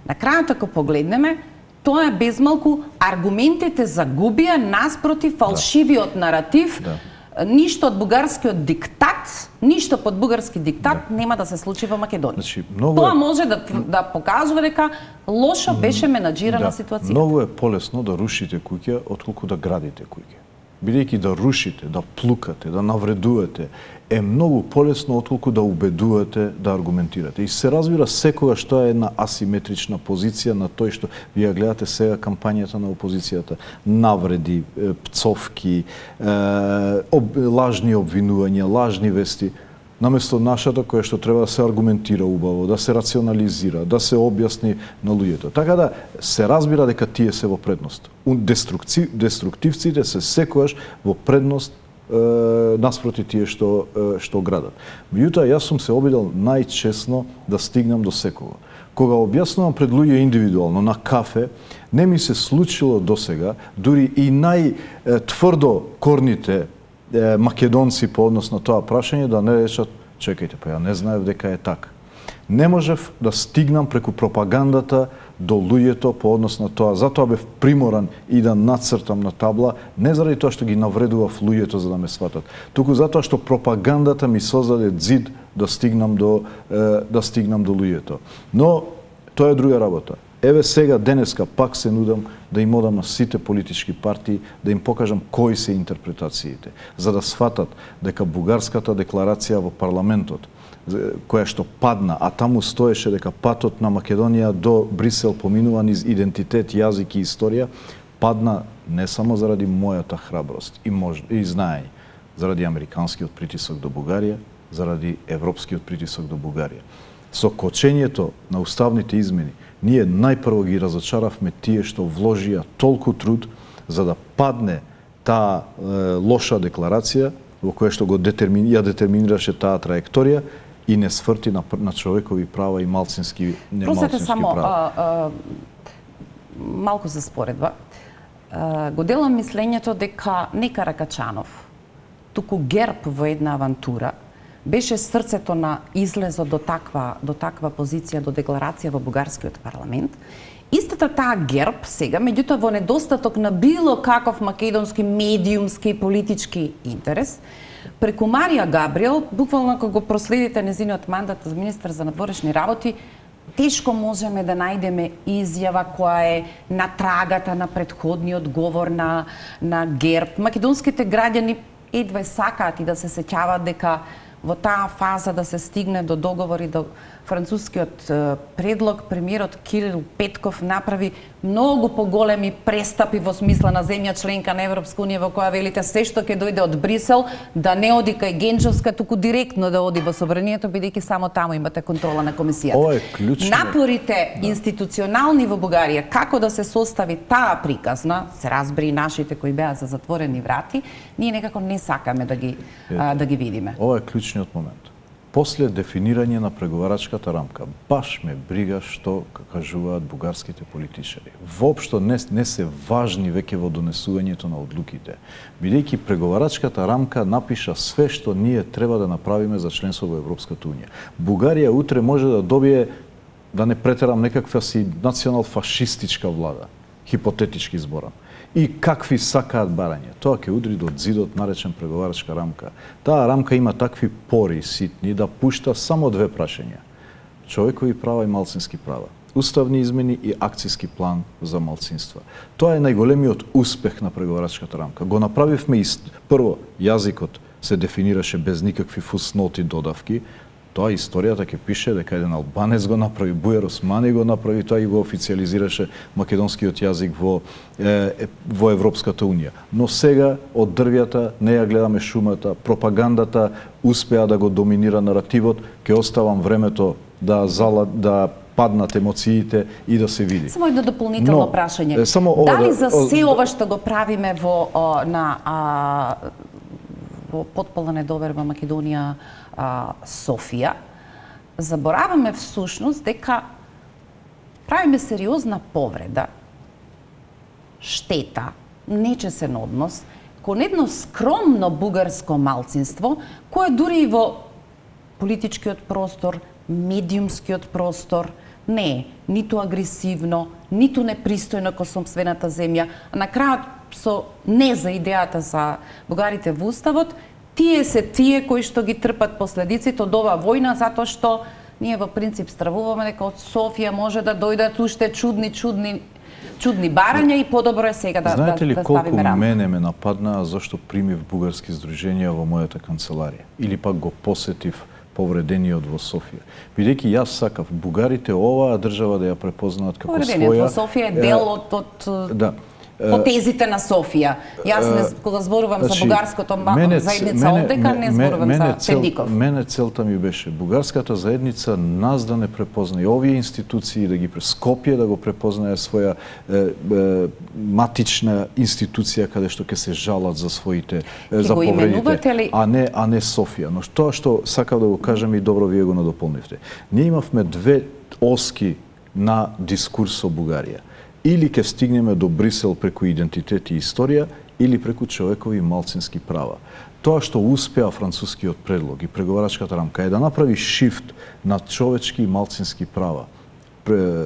На крајот, ако погледнеме, тоа е безмалку аргументите загубија наспроти фалшивиот да. наратив. Да. Ништо од бугарскиот диктат, ништо под бугарски диктат да. нема да се случи во Македонија. Значи, многу Тоа е... може да, да покажува дека лошо беше менаџирана да. ситуацијата. Многу е полесно да рушите куќа отколку да градите куќа. бидејќи да рушите, да плукате, да навредувате, е многу полесно отколку да убедувате, да аргументирате. И се разбира секогаш тоа е една асиметрична позиција на тој што вие гледате сега кампањата на опозицијата, навреди, пцовки, об, лажни обвинувања, лажни вести, наместо нашата која што треба да се аргументира убаво, да се рационализира, да се објасни на луѓето. Така да се разбира дека тие се во предност. Деструктивците се секогаш во предност е, наспроти тие што е, што градат. Меѓутоа јас сум се обидел најчесно да стигнам до секого. Кога објаснувам пред луѓе индивидуално на кафе, не ми се случило досега, дури и најтврдо корните македонци по однос на тоа прашање да не речат, чекајте, па ја не знаев дека е така. Не можев да стигнам преку пропагандата до луѓето по однос на тоа. Затоа бев приморан и да нацртам на табла, не заради тоа што ги навредував луѓето за да ме сватат, туку затоа што пропагандата ми создаде зид да стигнам до да стигнам до луѓето. Но тоа е друга работа. Еве сега, денеска, пак се нудам да им одам на сите политички партии, да им покажам кои се интерпретациите, за да сватат дека бугарската декларација во парламентот, која што падна, а таму стоеше дека патот на Македонија до Брисел поминува низ идентитет, јазик и историја, падна не само заради мојата храброст и, мож... и знаење, заради американскиот притисок до Бугарија, заради европскиот притисок до Бугарија. Со кочењето на уставните измени, ние најпрво ги разочаравме тие што вложија толку труд за да падне таа е, лоша декларација во која што го детермини, ја детерминираше таа траекторија и не сврти на, на човекови права и малцински не малцински само, права. А, а, малку за споредба. А, го делам мислењето дека не Каракачанов, туку ГЕРБ во една авантура беше срцето на излезот до таква, до таква позиција, до декларација во бугарскиот парламент. Истата таа ГЕРБ сега, меѓутоа во недостаток на било каков македонски медиумски и политички интерес, преку Марија Габриел, буквално кога го проследите незиниот мандат за министар за надворешни работи, тешко можеме да најдеме изјава која е на трагата на претходниот говор на, на ГЕРБ. Македонските граѓани едва сакаат и да се сеќават дека во таа фаза да се стигне до договори до францускиот предлог, премиерот Кирил Петков направи многу поголеми престапи во смисла на земја членка на Европска унија во која велите се што ќе дојде од Брисел да не оди кај Генчовска, туку директно да оди во собранието, бидејќи само таму имате контрола на комисијата. Ова е клучно. Напорите да. институционални во Бугарија како да се состави таа приказна, се разбери нашите кои беа за затворени врати, ние некако не сакаме да ги а, да ги видиме. Ова е клучниот момент. После дефинирање на преговарачката рамка, баш ме брига што кажуваат бугарските политичари. Воопшто не, не се важни веќе во донесувањето на одлуките, бидејќи преговарачката рамка напиша све што ние треба да направиме за членство во Европската унија. Бугарија утре може да добие, да не претерам, некаква си национал-фашистичка влада, хипотетички зборам. И какви сакаат барање. Тоа ќе удри до зидот наречен преговарачка рамка. Таа рамка има такви пори ситни да пушта само две прашања. Човекови права и малцински права. Уставни измени и акцијски план за малцинства. Тоа е најголемиот успех на преговарачката рамка. Го направивме и прво јазикот се дефинираше без никакви фусноти додавки. Тоа историјата ќе пише дека еден албанец го направи, Бујар Османи го направи, тоа и го официализираше македонскиот јазик во е, во Европската унија. Но сега од дрвјата не ја гледаме шумата, пропагандата успеа да го доминира наративот, ќе оставам времето да зала да паднат емоциите и да се види. Само едно дополнително Но, прашање. Само Дали да, за се ова што го правиме во о, на а, во потполна недоверба Македонија а, Софија, забораваме всушност дека правиме сериозна повреда, штета, нечесен однос кон едно скромно бугарско малцинство, кое дури и во политичкиот простор, медиумскиот простор, не е ниту агресивно, ниту непристојно кон сопствената земја, а на крајот со не за идејата за бугарите во уставот, тие се тие кои што ги трпат последиците од оваа војна, затоа што ние во принцип стравуваме дека од Софија може да дојдат уште чудни, чудни, чудни барања и подобро е сега да, Знаете ли да, да колку ставиме рамка. мене ме нападнаа зашто примив бугарски здруженија во мојата канцеларија или пак го посетив повредениот во Софија. Бидејќи јас сакав бугарите оваа држава да ја препознаат како своја. Повредениот во Софија е дел од, од да. потезите на Софија. Јас не, кога зборувам значи, за бугарското мене, заедница мене, овдека, не зборувам мене, за цел, Пендиков. Мене целта ми беше бугарската заедница нас да не препознае овие институции, да ги Скопје да го препознае своја е, е, матична институција каде што ќе се жалат за своите е, за повредите, ли... а не а не Софија. Но тоа што сакав да го кажам и добро вие го надополнивте. Ние имавме две оски на дискурс со Бугарија. Или ќе стигнеме до Брисел преку идентитет и историја, или преку човекови и малцински права. Тоа што успеа францускиот предлог и преговарачката рамка е да направи шифт на човечки и малцински права.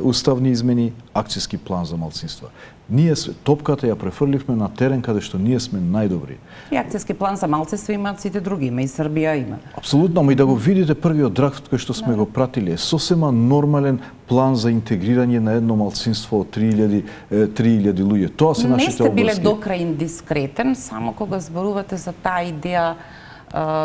Уставни измени, акцијски план за малцинства. Ние топката ја префрливме на терен каде што ние сме најдобри. И акцијски план за малцинства имаат сите други, има и Србија има. Апсолутно, ама и да го видите првиот драфт кој што сме no. го пратиле, е сосема нормален план за интегрирање на едно малцинство од три илјади луѓе. Тоа се нашите области. Не сте биле до крај индискретен, само кога зборувате за таа идеја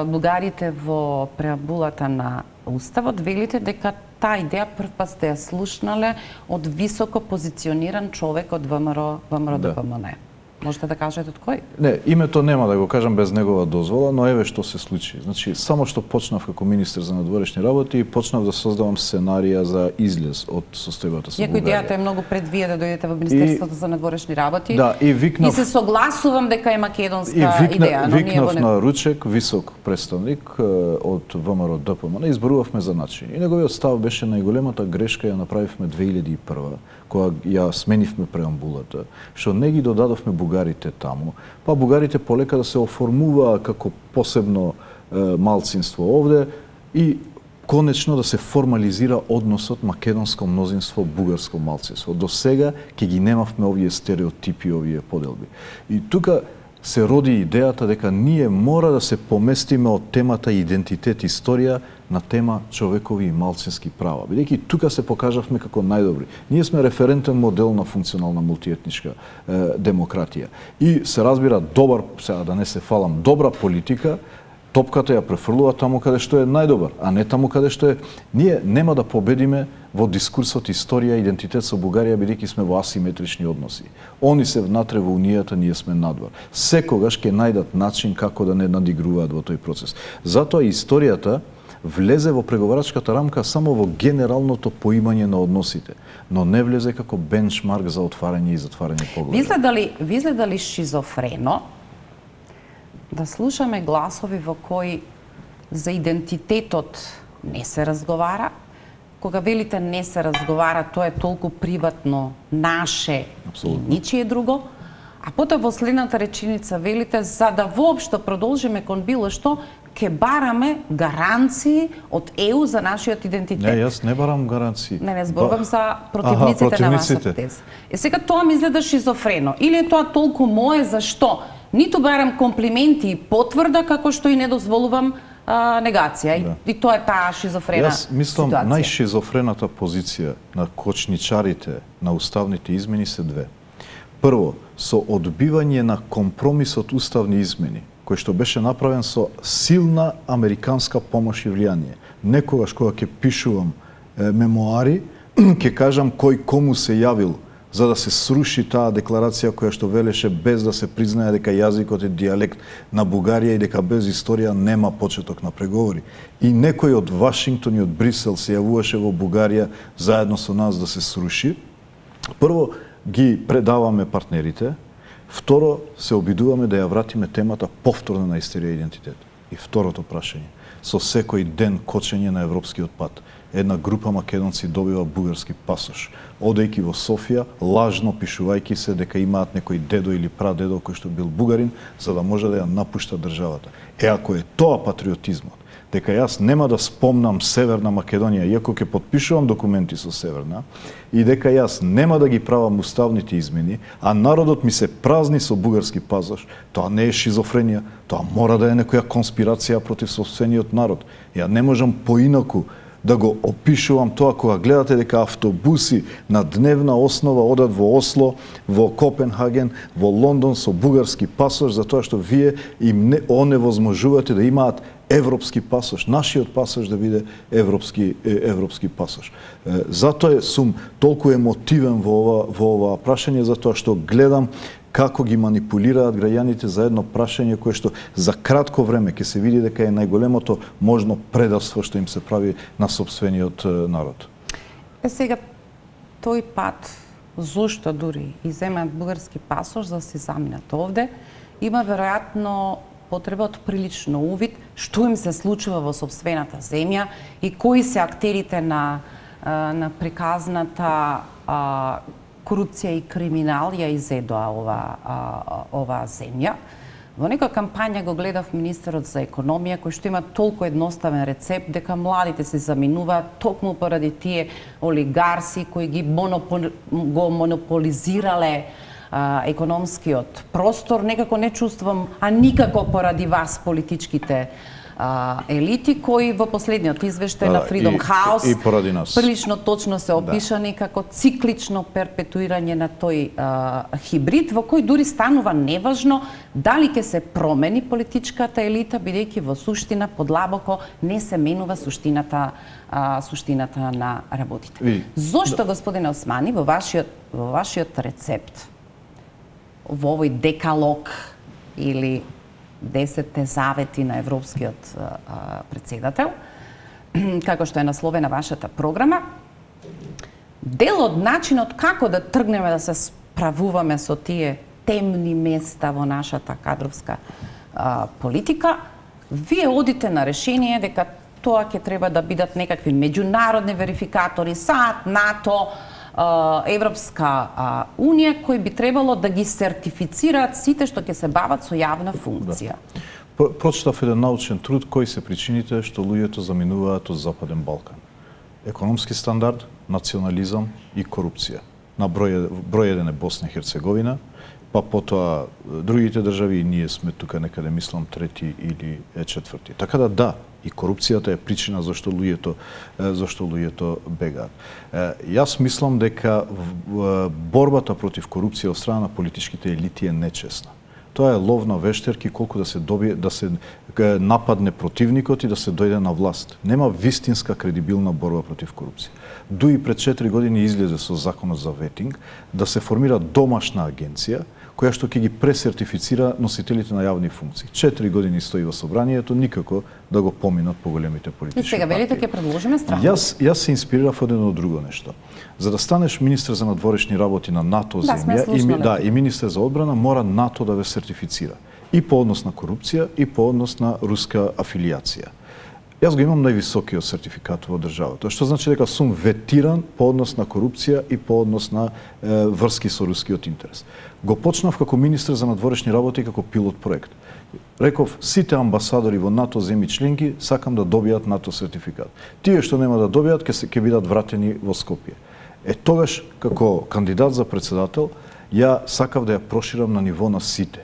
бугарите во преамбулата на Уставот, велите дека таа идеја првпат сте ја слушнале од високо позициониран човек од ВМРО ДПМН. Да. Можете да кажете од кој? Не, името нема да го кажам без негова дозвола, но еве што се случи. Значи, само што почнав како министер за надворешни работи и почнав да создавам сценарија за излез од состојбата со Бугарија. Иако идејата е многу пред вие да дојдете во Министерството и... за надворешни работи. Да, и викнав... И се согласувам дека е македонска и викна... идеја, но викнав ние на Ручек, висок представник од ВМРО ДПМН, изборувавме за начин. И неговиот став беше најголемата грешка ја направивме две илјади и прва, кога ја сменивме преамбулата, што не ги додадовме бугарите таму, па бугарите полека да се оформуваа како посебно е, малцинство овде и конечно да се формализира односот македонско мнозинство бугарско малцинство. До сега ќе ги немавме овие стереотипи, овие поделби. И тука се роди идејата дека ние мора да се поместиме од темата идентитет историја на тема човекови и малцински права. Бидејќи тука се покажавме како најдобри. Ние сме референтен модел на функционална мултиетничка е, демократија. И се разбира добар, сега да не се фалам, добра политика, топката ја префрлува таму каде што е најдобар, а не таму каде што е. Ние нема да победиме во дискурсот историја и идентитет со Бугарија, бидејќи сме во асиметрични односи. Они се внатре во Унијата, ние сме надвор. Секогаш ќе најдат начин како да не надигруваат во тој процес. Затоа историјата влезе во преговарачката рамка само во генералното поимање на односите, но не влезе како бенчмарк за отварање и затварање погледа. Ви изгледа ви изгледа ли шизофрено да слушаме гласови во кои за идентитетот не се разговара? Кога велите не се разговара, тоа е толку приватно, наше Абсолютно. И ничие друго, а потоа во следната реченица велите за да воопшто продолжиме кон било што, ке бараме гаранции од Е У за нашиот идентитет. Не, јас не барам гаранции. Не, не зборувам ба... за противниците, Аха, противниците на вашата теза. Е сега тоа ми изгледа шизофрено. Или е тоа толку мое, зашто? Ниту барам комплименти и потврда, како што и не дозволувам а, негација. Да. И, и тоа е таа шизофрена Јас мислам, ситуација. Најшизофрената позиција на кочничарите на уставните измени се две. Прво, со одбивање на компромисот уставни измени, кој што беше направен со силна американска помош и влијание. Некогаш кога ќе пишувам е, мемуари, ќе кажам кој кому се јавил за да се сруши таа декларација која што велеше без да се признае дека јазикот е дијалект на Бугарија и дека без историја нема почеток на преговори. И некој од Вашингтон и од Брисел се јавуваше во Бугарија заедно со нас да се сруши. Прво, ги предаваме партнерите. Второ, се обидуваме да ја вратиме темата повторно на историја и идентитет. И второто прашање, со секој ден кочење на европскиот пат, една група македонци добива бугарски пасош, одејќи во Софија, лажно пишувајќи се дека имаат некој дедо или прадедо кој што бил бугарин, за да може да ја напушта државата. Е, ако е тоа патриотизмот, дека јас нема да спомнам Северна Македонија, иако ќе потпишувам документи со Северна, и дека јас нема да ги правам уставните измени, а народот ми се празни со бугарски пасош, тоа не е шизофренија, тоа мора да е некоја конспирација против собствениот народ. Ја не можам поинаку да го опишувам тоа кога гледате дека автобуси на дневна основа одат во Осло, во Копенхаген, во Лондон со бугарски пасош, затоа што вие им не оневозможувате да имаат европски пасош, нашиот пасош да биде европски европски пасош. Затоа сум толку емотивен во ова во ова прашање, затоа што гледам како ги манипулираат граѓаните за едно прашање кое што за кратко време ќе се види дека е најголемото можно предавство што им се прави на сопствениот народ. Е сега тој пат зошто дури иземаат бугарски пасош за да се заминат овде, има веројатно потреба од прилично увид што им се случува во сопствената земја и кои се актерите на на приказната корупција и криминал ја изедоа ова ова земја. Во некоја кампања го гледав министерот за економија кој што има толку едноставен рецепт дека младите се заминуваат токму поради тие олигарси кои ги монопол, го монополизирале а, економскиот простор. Некако не чувствувам, а никако поради вас политичките а, елити кои во последниот извештај на Freedom House и, и поради нас прилично точно се опишани да. како циклично перпетуирање на тој а, хибрид во кој дури станува неважно дали ќе се промени политичката елита, бидејќи во суштина подлабоко не се менува суштината а, суштината на работите. И, Зошто, да. господине Османи, во вашиот во вашиот рецепт во овој декалог или десетте завети на европскиот а, председател, како што е насловена вашата програма, дел од начинот како да тргнеме да се справуваме со тие темни места во нашата кадровска а, политика, вие одите на решение дека тоа ќе треба да бидат некакви меѓународни верификатори, САД, НАТО, Европска унија, кои би требало да ги сертифицираат сите што ќе се бават со јавна функција. Да. Прочитав еден научен труд кои се причините што луѓето заминуваат од Западен Балкан. Економски стандард, национализам и корупција. На број, број еден е Босна и Херцеговина, па потоа другите држави и ние сме тука некаде, мислам, трети или четврти. Така да да, и корупцијата е причина зашто луѓето зашто луѓето бегаат. Јас мислам дека борбата против корупција од страна на политичките елити е нечесна. Тоа е лов на вештерки колку да се добие да се нападне противникот и да се дојде на власт. Нема вистинска кредибилна борба против корупција. Дуи пред четири години излезе со законот за ветинг да се формира домашна агенција која што ќе ги пресертифицира носителите на јавни функции. Четири години стои во собранието, никако да го поминат поголемите политички партии. И сега велите ќе предложиме страна. Јас јас се инспирирав од едно друго нешто. За да станеш министер за надворешни работи на НАТО да, земја и да и министер за одбрана, мора НАТО да ве сертифицира и по однос на корупција и по однос на руска афилијација. Јас го имам највисокиот сертификат во државата, што значи дека сум ветиран по однос на корупција и по однос на е, врски со рускиот интерес. Го почнав како министер за надворешни работи како пилот проект. Реков, сите амбасадори во НАТО земји членки сакам да добијат НАТО сертификат. Тие што нема да добијат ќе се ќе бидат вратени во Скопје. Е тогаш како кандидат за председател ја сакав да ја проширам на ниво на сите.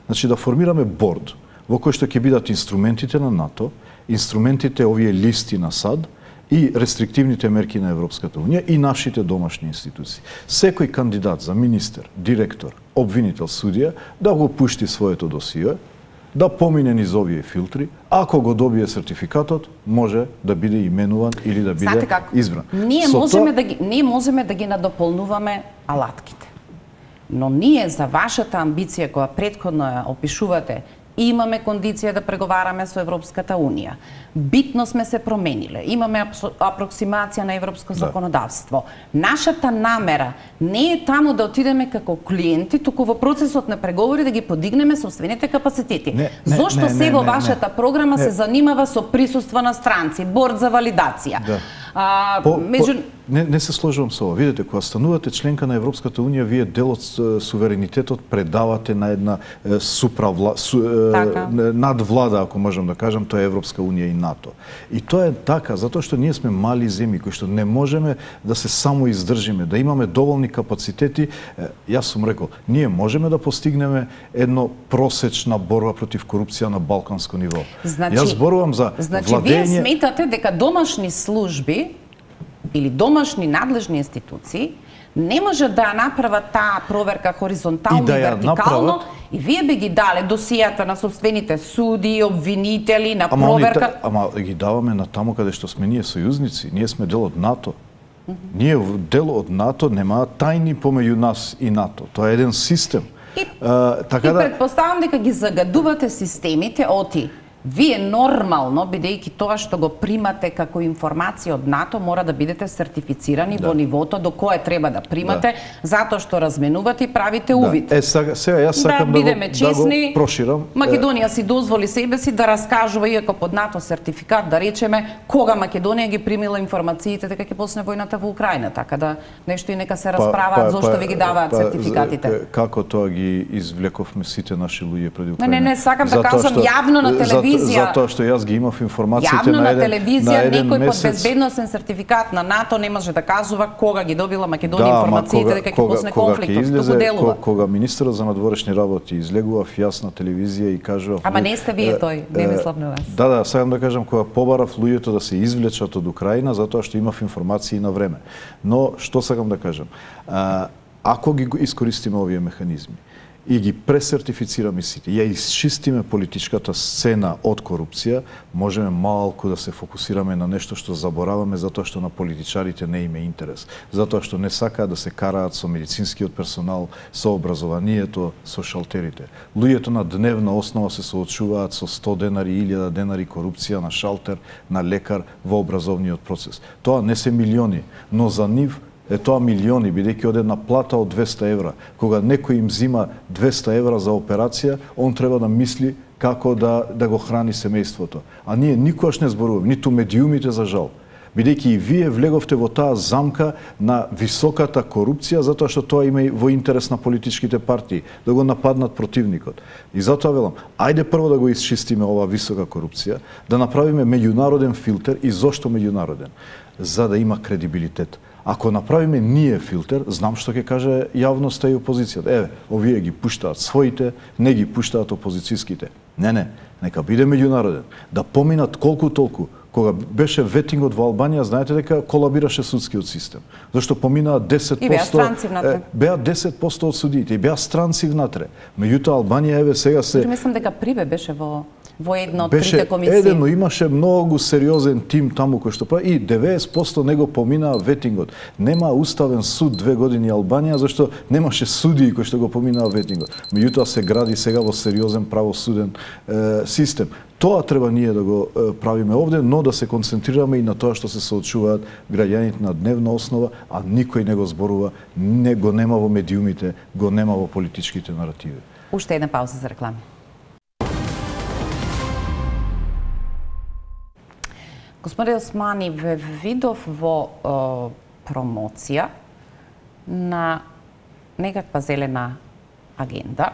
Значи да формираме борд во кој што ќе бидат инструментите на НАТО, инструментите овие листи на САД и рестриктивните мерки на Европската унија и нашите домашни институции. Секој кандидат за министер, директор, обвинител, судија да го пушти своето досие, да помине низ овие филтри, ако го добие сертификатот, може да биде именуван или да биде избран. Ние Со можеме тоа... да ги ние можеме да ги надополнуваме алатките. Но ние за вашата амбиција која претходно ја опишувате, имаме кондиција да преговараме со Европската унија. Битно сме се промениле. Имаме апроксимација на европско законодавство. Нашата намера не е таму да отидеме како клиенти, туку во процесот на преговори да ги подигнеме собствените капацитети. Не, не, Зошто не, се не, во не, вашата не. програма не. се занимава со присуство на странци, борд за валидација? Да. А, по, меѓу... по, не, не се сложувам со ова. Видете, кога станувате членка на Европската унија, вие дел од суверенитетот предавате на една суправла, су, така. надвлада, ако можам да кажам, тоа е Европска унија и НАТО. И тоа е така, затоа што ние сме мали земји кои што не можеме да се само издржиме, да имаме доволни капацитети. Јас сум рекол, ние можеме да постигнеме едно просечна борба против корупција на балканско ниво. Значи, Јас зборувам за значи, владење... вие сметате дека домашни служби или домашни надлежни институции не може да направат таа проверка хоризонтално и, да и вертикално направат... и вие би ги дале досијата на собствените суди, обвинители, на ама проверка... Ама, ама ги даваме на таму каде што сме ние сојузници, ние сме дел од НАТО. Mm -hmm. Ние дел од НАТО нема тајни помеѓу нас и НАТО. Тоа е еден систем. И, а, така и да... предпоставам дека ги загадувате системите оти. Вие нормално, бидејќи тоа што го примате како информација од НАТО, мора да бидете сертифицирани да. во нивото до кое треба да примате, да. затоа што разменувате и правите увид. Да. Е, сега, сега јас сакам да, да, го, честни, да го проширам. Македонија си дозволи себе си да раскажува, иако под НАТО сертификат, да речеме, кога Македонија ги примила информациите дека ќе почне војната во Украина, така да нешто и нека се расправаат па, па, зошто ви ги даваат па, сертификатите. Па, како тоа ги извлековме сите наши луѓе преди Украина? Не, не, не, сакам да кажам јавно на телевизија. Затоа што јас ги имав информациите Јавно на еден, на телевизија, на еден некој месец... под безбедносен сертификат на НАТО не може да кажува кога ги добила Македонија да, информациите дека ќе почне конфликтот, што го делува. Кога министерот за надворешни работи излегува јас на телевизија и кажува... Ама не сте вие тој, не мислам на вас. Да, да, сакам да кажам, кога побарав луѓето да се извлечат од Украина, затоа што имав информации на време. Но, што сакам да кажам? А, ако ги искористиме овие механизми, и ги пресертифицираме сите, ја исчистиме политичката сцена од корупција, можеме малку да се фокусираме на нешто што забораваме затоа што на политичарите не име интерес, затоа што не сакаат да се караат со медицинскиот персонал, со образованието, со шалтерите. Луѓето на дневна основа се соочуваат со сто денари, илјада денари корупција на шалтер, на лекар во образовниот процес. Тоа не се милиони, но за нив е тоа милиони, бидејќи од една плата од двеста евра. Кога некој им зима двеста евра за операција, он треба да мисли како да, да го храни семејството. А ние никогаш не зборуваме, ниту медиумите за жал. Бидејќи и вие влеговте во таа замка на високата корупција, затоа што тоа има и во интерес на политичките партии, да го нападнат противникот. И затоа велам, ајде прво да го исчистиме оваа висока корупција, да направиме меѓународен филтер. И зошто меѓународен? За да има кредибилитет. Ако направиме ние филтер, знам што ќе каже јавноста и опозицијата. Еве, овие ги пуштаат своите, не ги пуштаат опозицијските. Не, не, нека биде меѓународен. Да поминат колку толку. Кога беше ветингот во Албанија, знаете дека колабираше судскиот систем. Зашто поминаа десет проценти... И беа странци внатре. Беа десет проценти од судиите и беа странци внатре. Меѓутоа Албанија еве сега се... Мислам дека Прибе беше во во една од беше трите комисии. Еден, но имаше многу сериозен тим таму кој што прави и деветдесет проценти него поминаа ветингот. Нема уставен суд две години Албанија зашто немаше судии кои што го поминаа ветингот. Меѓутоа се гради сега во сериозен правосуден е, систем. Тоа треба ние да го е, правиме овде, но да се концентрираме и на тоа што се соочуваат граѓаните на дневна основа, а никој не го зборува, не го нема во медиумите, го нема во политичките наративи. Уште една пауза за реклама. Господи Османи, ве видов во е, промоција на некаква зелена агенда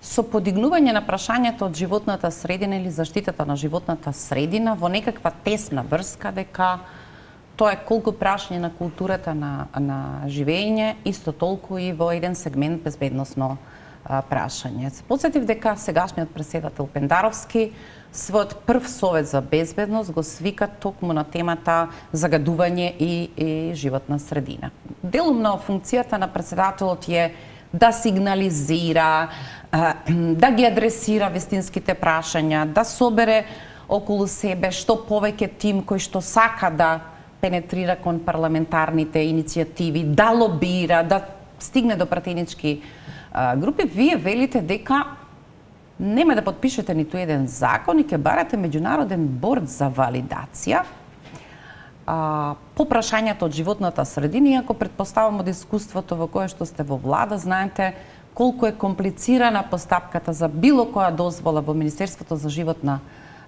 со подигнување на прашањето од животната средина или заштитата на животната средина во некаква тесна врска дека тоа е колку прашање на културата на, на живење, исто толку и во еден сегмент безбедносно а, прашање. Се подсетив дека сегашниот претседател Пендаровски својот прв совет за безбедност го свика токму на темата загадување и, и животна средина. Делумно функцијата на претседателот е да сигнализира, да ги адресира вистинските прашања, да собере околу себе што повеќе тим кој што сака да пенетрира кон парламентарните иницијативи, да лобира, да стигне до пратенички групи. Вие велите дека нема да подпишете ниту еден закон и ќе барате меѓународен борд за валидација а, по прашањето од животната средина, иако предпоставам од искуството во кое што сте во влада, знаете колку е комплицирана постапката за било која дозвола во Министерството за животна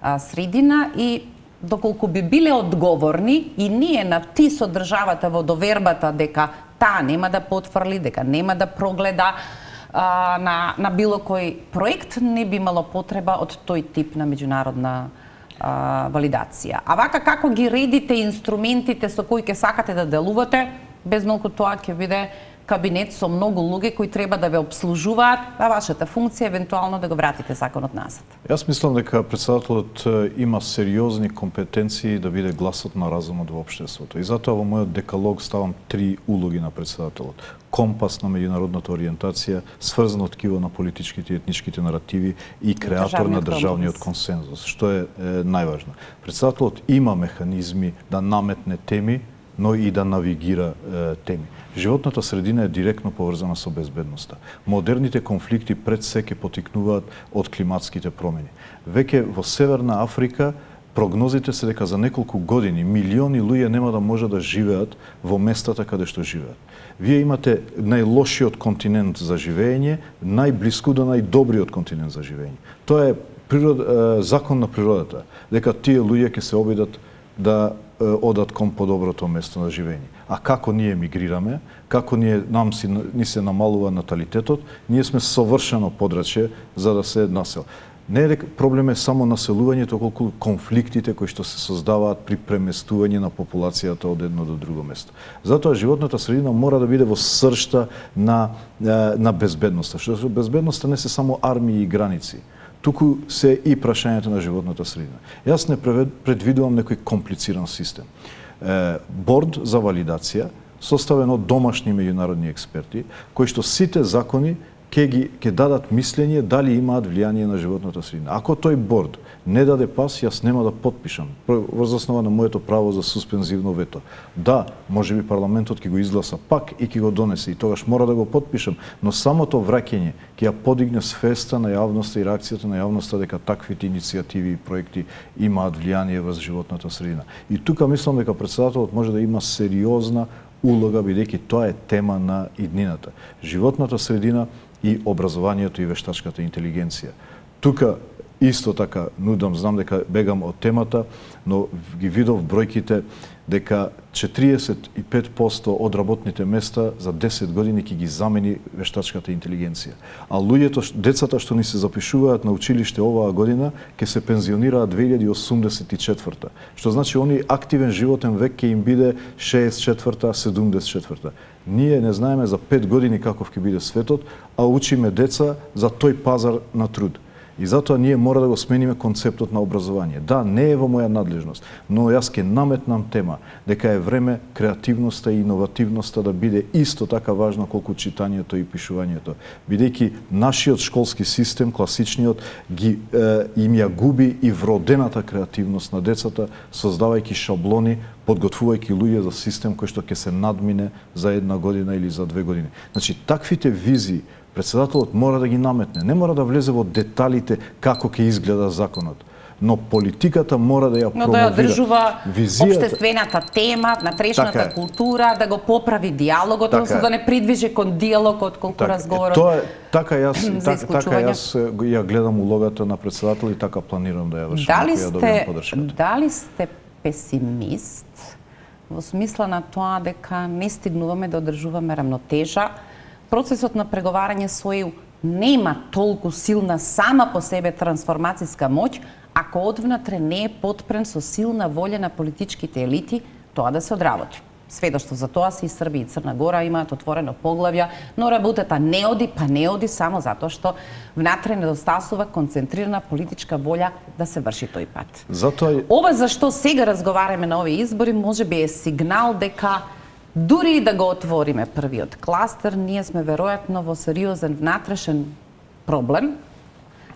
а, средина и доколку би биле одговорни и ние на ти со државата во довербата дека таа нема да потврли, дека нема да прогледа а, на, на било кој проект, не би имало потреба од тој тип на меѓународна а, валидација. А вака како ги редите инструментите со кои ќе сакате да делувате, без малку тоа ќе биде кабинет со многу луѓе кои треба да ве обслужуваат, а вашата функција евентуално да го вратите законот назад. Јас мислам дека председателот има сериозни компетенции да биде гласот на разумот во општеството. И затоа во мојот декалог ставам три улоги на председателот. Компас на меѓународната ориентација, сврзано ткиво на политичките и етничките наративи и креатор на државниот консензус, што е, е најважно. Председателот има механизми да наметне теми, но и да навигира е, теми. Животната средина е директно поврзана со безбедноста. Модерните конфликти пред се ќе потикнуваат од климатските промени. Веќе во Северна Африка прогнозите се дека за неколку години милиони луѓе нема да можат да живеат во местата каде што живеат. Вие имате најлошиот континент за живење, најблиску до најдобриот континент за живење. Тоа е природ, е, закон на природата, дека тие луѓе ќе се обидат да одат кон подоброто место на живење. А како ние мигрираме, како ние нам си ни се намалува наталитетот, ние сме совршено подрачје за да се насел. Не е дека проблем е само населувањето, колку конфликтите кои што се создаваат при преместување на популацијата од едно до друго место. Затоа животната средина мора да биде во сршта на на безбедноста. Што безбедноста не се само армии и граници, туку се и прашањето на животната средина. Јас не предвидувам некој комплициран систем. Е, борд за валидација, составен од домашни меѓународни експерти, кои што сите закони ќе ги ќе дадат мислење дали имаат влијание на животната средина. Ако тој борд не даде пас, јас нема да потпишам врз основа на моето право за суспензивно вето. Да, можеби парламентот ќе го изгласа пак и ќе го донесе и тогаш мора да го потпишам, но самото враќање ќе ја подигне свеста на јавноста и реакцијата на јавноста дека таквите иницијативи и проекти имаат влијание врз животната средина. И тука мислам дека председателот може да има сериозна улога, бидејќи тоа е тема на иднината. Животната средина и образованието и вештачката интелигенција. Тука исто така нудам, знам дека бегам од темата, но ги видов бројките дека четириесет и пет проценти од работните места за десет години ќе ги замени вештачката интелигенција. А луѓето, децата што ни се запишуваат на училиште оваа година, ќе се пензионираат две илјади осумдесет и четврта. Што значи они активен животен век ќе им биде шеесет и четврта, седумдесет и четврта. Ние не знаеме за пет години каков ќе биде светот, а учиме деца за тој пазар на труд. И затоа ние мора да го смениме концептот на образование. Да, не е во моја надлежност, но јас ќе наметнам тема дека е време креативноста и иновативноста да биде исто така важна колку читањето и пишувањето. Бидејќи нашиот школски систем, класичниот, ги е, им ја губи и вродената креативност на децата, создавајќи шаблони, подготвувајќи луѓе за систем кој што ќе се надмине за една година или за две години. Значи, таквите визии председателот мора да ги наметне. Не мора да влезе во деталите како ќе изгледа законот, но политиката мора да ја промовира. Но да ја одржува визијата, општествената тема, натрешната така култура, да го поправи диалогот, така односно да не придвижи кон диалогот, колку така, разговорот. Тоа е, така јас така, така јас ја гледам улогата на председател и така планирам да ја вршам. Дали сте дали сте песимист во смисла на тоа дека не стигнуваме да одржуваме рамнотежа? Процесот на преговарање со Е Ју нема толку силна сама по себе трансформацијска моќ, ако одвнатре не е потпрен со силна волја на политичките елити тоа да се одработи. Сведоштво за тоа се и Србија и Црна Гора имаат отворено поглавја, но работата не оди, па не оди само затоа што внатре недостасува концентрирана политичка волја да се врши тој пат. Затоа Ова зашто сега разговараме на овие избори можеби е сигнал дека дури и да го отвориме првиот кластер, ние сме веројатно во сериозен внатрешен проблем.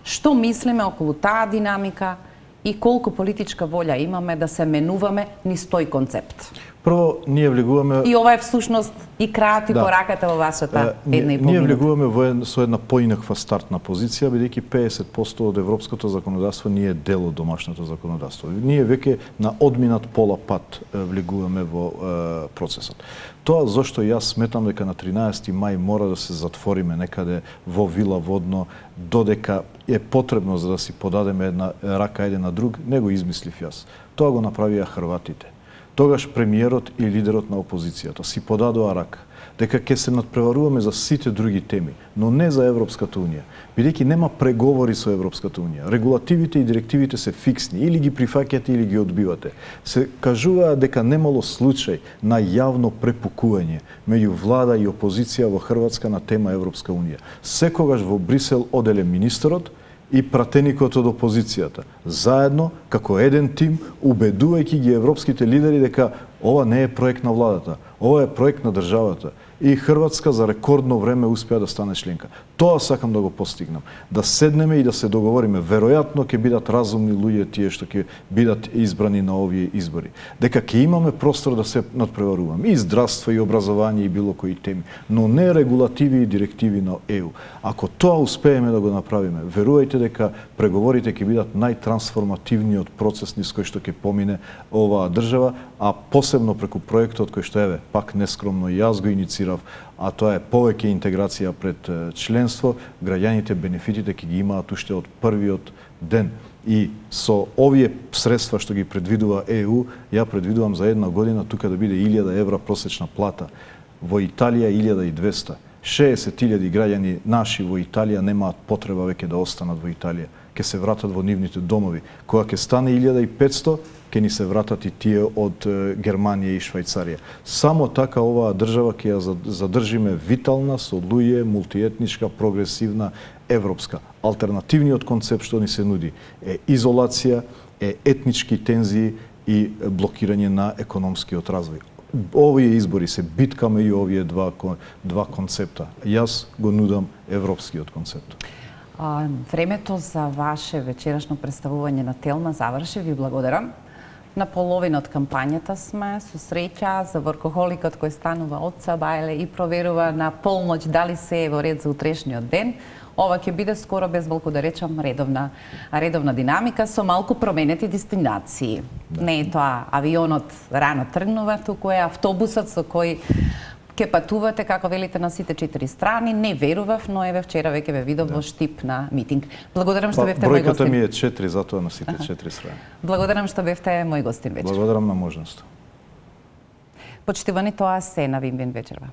Што мислиме околу таа динамика и колку политичка волја имаме да се менуваме низ тој концепт? Прво, ние влегуваме... И ова е всушност и крајот и да. пораката во вашата една и пол Ние минута. влегуваме во една, со една поинаква стартна позиција, бидејќи педесет проценти од европското законодавство ние е дел од домашното законодавство. Ние веќе на одминат пола пат влегуваме во е, процесот. Тоа зашто јас сметам дека на тринаесети мај мора да се затвориме некаде во Вила Водно, додека е потребно за да си подадеме една рака еден на друг, не го измислив јас. Тоа го направија хрватите. Тогаш премиерот и лидерот на опозицијата си подадоа рака дека ќе се надпреваруваме за сите други теми, но не за Европската унија, бидејќи нема преговори со Европската унија. Регулативите и директивите се фиксни, или ги прифаќате или ги одбивате. Се кажуваа дека немало случај на јавно препукување меѓу влада и опозиција во Хрватска на тема Европска унија. Секогаш во Брисел оделе министерот и пратеникот од опозицијата, заедно, како еден тим, убедувајќи ги европските лидери дека ова не е проект на владата, ова е проект на државата. И Хрватска за рекордно време успеа да стане членка. Тоа сакам да го постигнам. Да седнеме и да се договориме. Веројатно ќе бидат разумни луѓе тие што ќе бидат избрани на овие избори. Дека ќе имаме простор да се надпреваруваме. И здравство, и образование, и било кои теми. Но не регулативи и директиви на Е У. Ако тоа успееме да го направиме, верувајте дека преговорите ќе бидат најтрансформативниот процес низ кој што ќе помине оваа држава, а посебно преку проектот кој што еве, пак нескромно и јас го иницирав, а тоа е повеќе интеграција пред членство, граѓаните бенефитите ќе ги имаат уште од првиот ден. И со овие средства што ги предвидува Е У, ја предвидувам за една година тука да биде илјада евра просечна плата. Во Италија илјада и двесте. шеесет илјади граѓани наши во Италија немаат потреба веќе да останат во Италија. Ке се вратат во нивните домови. Кога ќе стане илјада и петсто, ќе ни се вратат и тие од Германија и Швајцарија. Само така оваа држава ќе ја задржиме витална, со луѓе, мултиетничка, прогресивна, европска. Алтернативниот концепт што ни се нуди е изолација, е етнички тензии и блокирање на економскиот развој. Овие избори се битка меѓу овие два, два концепта. Јас го нудам европскиот концепт. А, времето за ваше вечерашно представување на Телма заврши. Ви благодарам. На половина од кампањата сме, со среќа за воркохоликот кој станува од Сабајле и проверува на полноќ дали се е во ред за утрешниот ден. Ова ќе биде скоро, без малку да речам, редовна, редовна динамика со малку променети дестинации. Да. Не е тоа авионот рано тргнува, туку е автобусот со кој ќе патувате, како велите, на сите четири страни. Не верував, но еве вчера веќе ве видов да. во Штип на митинг. Благодарам што бевте мој гостин. Бројката ми е четири, затоа на сите четири страни. Благодарам што бевте мој гостин вечер. Благодарам на можност. Почитувани, тоа се на Вин Вин вечерва.